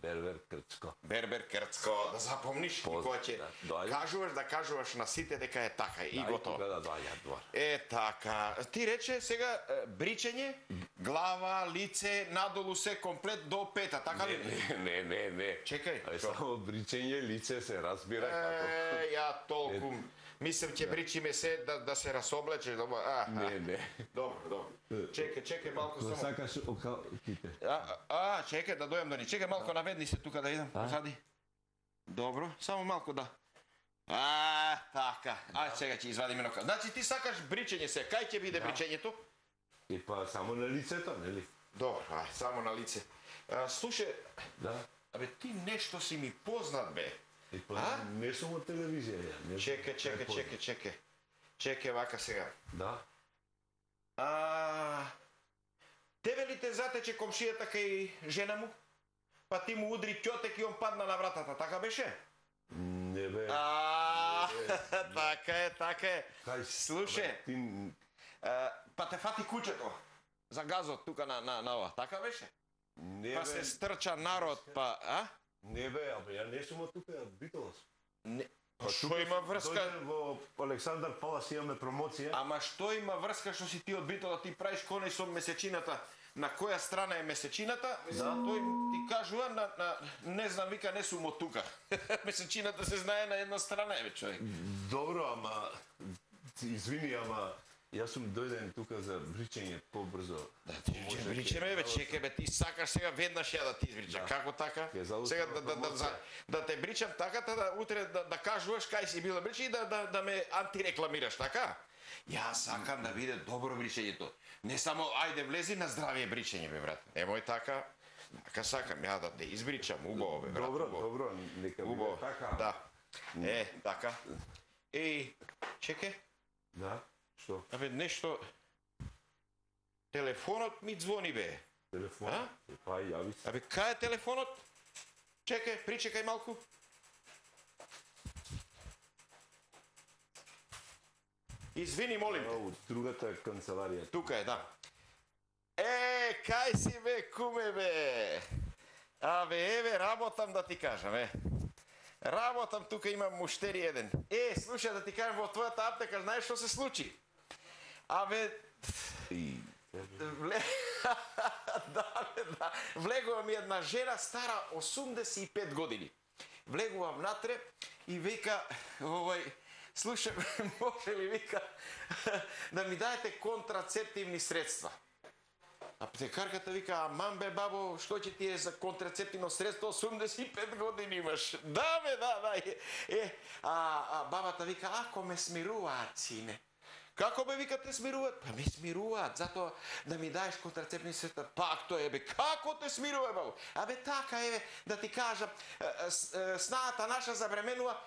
Бербер Крцко. Бербер Крцко. Да запомниш, кога ќе кажуваш на сите дека е така и готово. Да доаѓаат двор. Е така. Ти рече сега бричење, глава, лице, надолу се комплет до пета, така ли? Не. Чекај. Само бричење, лице се разбира како. Ја толку. Мислам ќе бричиме се да се расоблечеш. Не. Добро. Чекај малку само. Сакаш окалките. Чекај да дојам до ни. Чекај малку, наведни се тука да идам позади. Добро, само малку да. Така. Чекај, ќе извадим едно. Значи ти сакаш бричење се. Кај ќе биде бричењето? И па само на лицето, нели? Добро, само на лице. Слушај, да. Абе ти нешто си ми познат бе. Не сум од телевизија. Чекај. Чекај вака сега. Да. Тебе ли те затече комшијата кај жена му? Па ти му удри ќотек и он падна на вратата, така беше? Не бе. Така е. Слушај, па те фати куќето за газот тука на ова, така беше? Не па се стрча народ, па, Не бе, абе, ја не сум од тука, од Битолас. Што има врска? Дојден во Александар Палас, имаме промоција. Ама што има врска што си ти од Битола, ти правиш конеј со месечината? На која страна е месечината? Тој ти кажува, не знам, вика, не сум од тука. Месечината се знае на една страна, човек. Добро, ама, извини, ама, јас сум дојден тука за бричење побрзо. Да, ти бричеме, чекај, ти сакаш сега веднаш ја да ти избричам. Како така? Сега да те бричам така, утре да кажуваш кај си бил да бричи и да ме антирекламираш, така? Јас сакам да биде добро бричењето. Не само, ајде влези на здравие бричење, бе, брат. Емој така, така сакам ја да те избричам, убаво, бе, брат. Добро, нека биде така. Да. Така. Чекај. Да. Што? Абе, нешто... Телефонот ми звони, бе. Телефонот? Па, јави се. Абе, кај е телефонот? Чекај, причекај малку. Извини, молим. Од другата канцеларија. Тука е, да. Кај си, бе, куме, бе? Абе, еве, работам да ти кажам, Работам, тука имам муштери еден. Слушај, да ти кажам, во твојата аптека, знаеш што се случи? Абе... Влегува ми една жена стара 85 години. Влегувам внатре и вика, слушай, може ли, вика, да ми даете контрацептивни средства? Аптекарката вика, аман бе, бабо, што ќе ти е за контрацептивно средство, 85 години имаш. Да, бе, да. Бабата вика, ако ме смируваат, сине. Како бе, вика, те смируваат? Па ме смируваат, затоа да ми даеш контрацептивни средства. Пак тоа е, бе, како те смирува, бабо? Абе, така е, да ти кажам, снаата наша забременува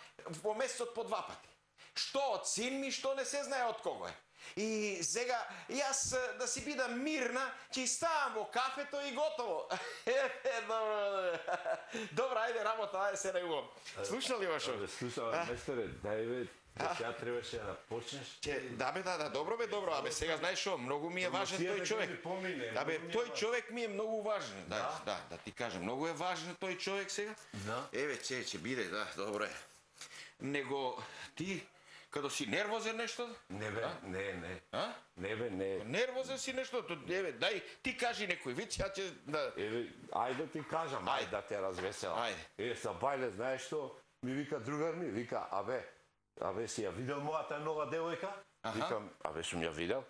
во месецот по 2 пати. што од син ми, што не се знае од кого е. И сега, јас да си бидам мирна, ќе ставам во кафето и готово. Добро, ајде работа, ајде се најувам. Слушна ли Вашо? Слушам, местере, дај бе, сега требаше да почнеш. Да бе, добро бе, добро. Абе, сега знаеш што, многу ми е важен тој човек. Абе, тој човек ми е многу важен. Да ти кажам, многу е важен тој човек сега. Еве, ќе биде, да, добро е. Него ти Кадо си нервозен нешто? Не бе, не. Не бе, не. Нервозен си нешто? Еве, дај, ти кажи некој виц, ја ќе да... Еве, ајде ти кажам, ајде да те развеселам. Ајде. Са бајле, знаеш што? Ми вика другар ми, вика, абе си ја видел мојата нова девојка? Викам, абе сум ја видел.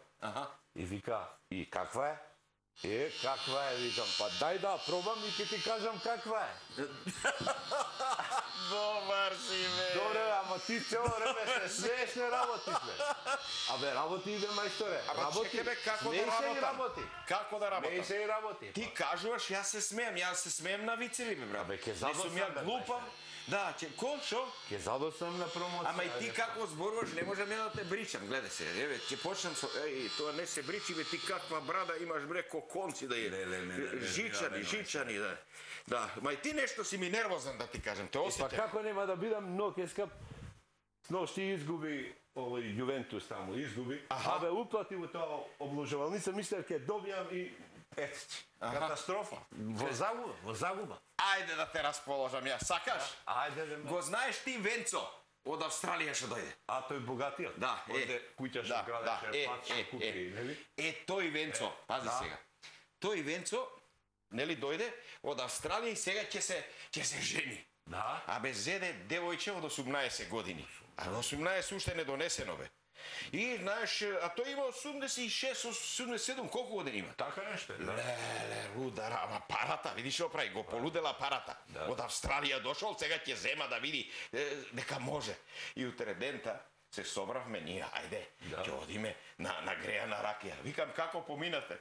И вика, и каква е? Каква е, викам, па дај да пробам и ќе ти кажам каква е. Добар си, бе. Добре, ама ти цело време се смееш, не работиш, бе. Абе, работи, бе, мајсторе. Ама чекай, бе, како да работам? Како да работам? Не се и работи. Ти кажуваш, јас се смеем на вицеви, бе, брат. Абе, ке задосам, ја глупав. Да, ко, шо? Ке задосам на промоција. Ама и ти како зборуваш, не можам ја да те бричам, гледај се. Еве, ќе почнам со, тоа не се бричи, бе, ти каква брада имаш, бре, ко конци да е. Жичани, да. Да, ма и ти нешто си ми нервозен, да ти кажам, те осеќам. Па како нема да бидам, но кеска сношти изгуби овој Јувентус таму, изгуби. Абе, уплати во тоа обложувалница, мислев ке добијам и катастрофа. Во загуба. Ајде да те расположам ја, сакаш? Ајде да ме. Го знаеш ти Венцо, од Австралија што дојде. А тој богатиот? Да, куќа што градеше, пат што купи, нели? Тој Венцо, пази сега. Тој Венцо, нели дојде од Австралија и сега ќе се жени. Да. Абе зеде девојче од 18 години. А 18 уште не донесено бе. И знаеш, а тој има 86, 87, колку години има? Така нешто, да. Леле, рудара, ама парата, видиш што прави, го полудела парата. Од Австралија дошол, сега ќе зема да види дека може. И утре дента се собравме ние, ајде, ќе одиме на грејана ракија. Викам, како поминате?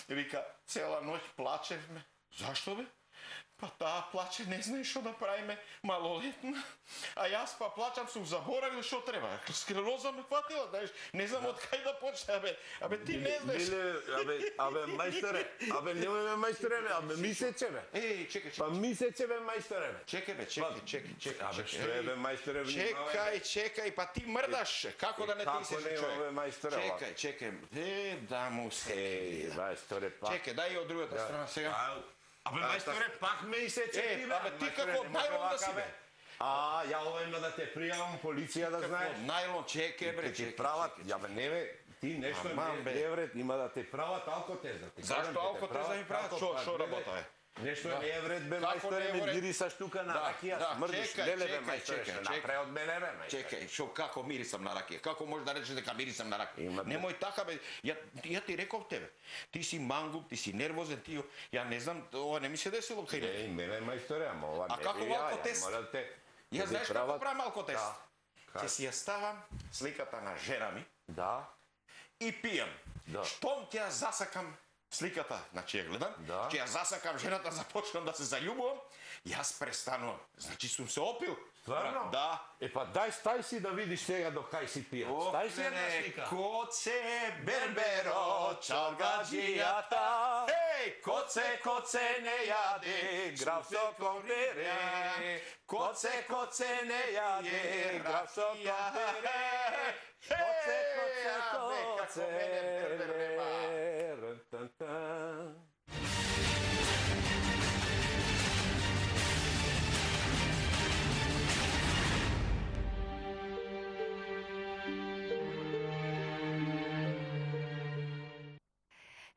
Вика, цела ноќ плачевме. Зашто бе? Па таа плаче, не знае што да правиме, малолетна. А јас па плачам, сум заборавил што треба. Склероза ме фатила, знаеш, не знам од кај да почне, абе ти не знаеш. Абе мајсторе, немој мајсторе, абе мисече бе. Чекај. Па мисече бе мајсторе бе. Чекај бе, чекај. Абе што е бе мајсторе? Чекај, па ти мрдаш, како да не ти се човек. Како не бе мајсторе? Чекај. Да му се. Мајсторе, па. Чекај, дај од другата страна сега. Абе, мајсторе, пак ме исече ти, бе. Абе, ти како најлон да си, бе. Ја ова има да те пријавам, полиција да знаеш. Најлон, чекај, бре, чекај. Ти прават, ја бе, не бе, ти нешто не вред, има да те прават алкотеза. Зашто алкотеза ми прават? Шо работа е? Нешто не е вред, бе, мајсторе, ме мирисаш тука на ракија, смрдиш, леле, бе, мајсторе, што напре од мене, бе, мајсторе. Чекај, шо, како мирисам на ракија? Како можеш да речеш дека мирисам на ракија? Немој така, бе, ја ти реков тебе. Ти си мангуп, ти си нервозен, ти, ја не знам, ова не ми се десило кај не. Мене, мајсторе, ама ова не би ја. А како алкотест? Ја знаеш како правам алкотест? Ќе си ја ставам сликата на жена ми. Да. И пијам. Штом ќе ја засакам сликата, значи ја гледам, ќе ја засакам жената, започнам да се заљубувам, јас престанувам. Значи сум се опил. Стварно? Да. Па дај, стај си да видиш сега до кај си пијат. Стај си една слика. Коце, берберо, чалгаджијата. Коце, не јаде, граф сокомбере. Коце, не јаде, граф сокомбере. Коце,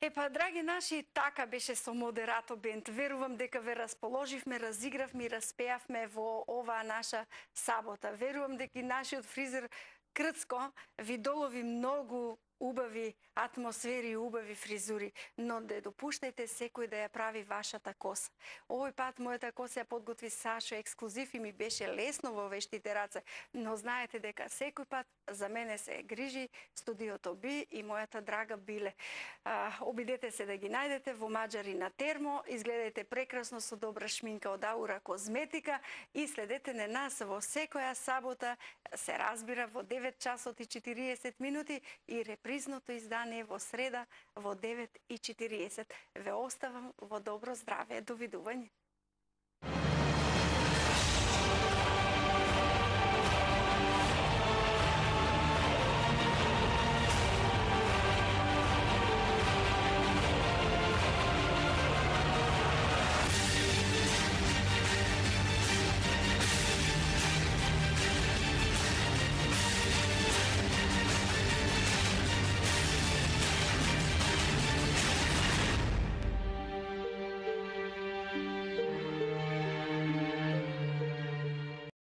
Епа, драги наши, така беше со Модерато бенд. Верувам дека ве расположивме, разигравме и распеавме во оваа наша сабота. Верувам дека и нашиот фризер Крцко ви долови многу убави атмосфери и убави фризури, но не допуштајте секој да ја прави вашата коса. Овој пат мојата коса ја подготви Сашо ексклузив и ми беше лесно во вештите раце, но знаете дека секој пат за мене се грижи студиото Би и мојата драга Биле. Обидете се да ги најдете во Маџари на Термо, изгледајте прекрасно со добра шминка од Аура Козметика и следете на нас во секоја сабота, се разбира во 9 часот и 40 минути и репризното издание во среда во 9:40. Ве оставам во добро здраве. Довидување.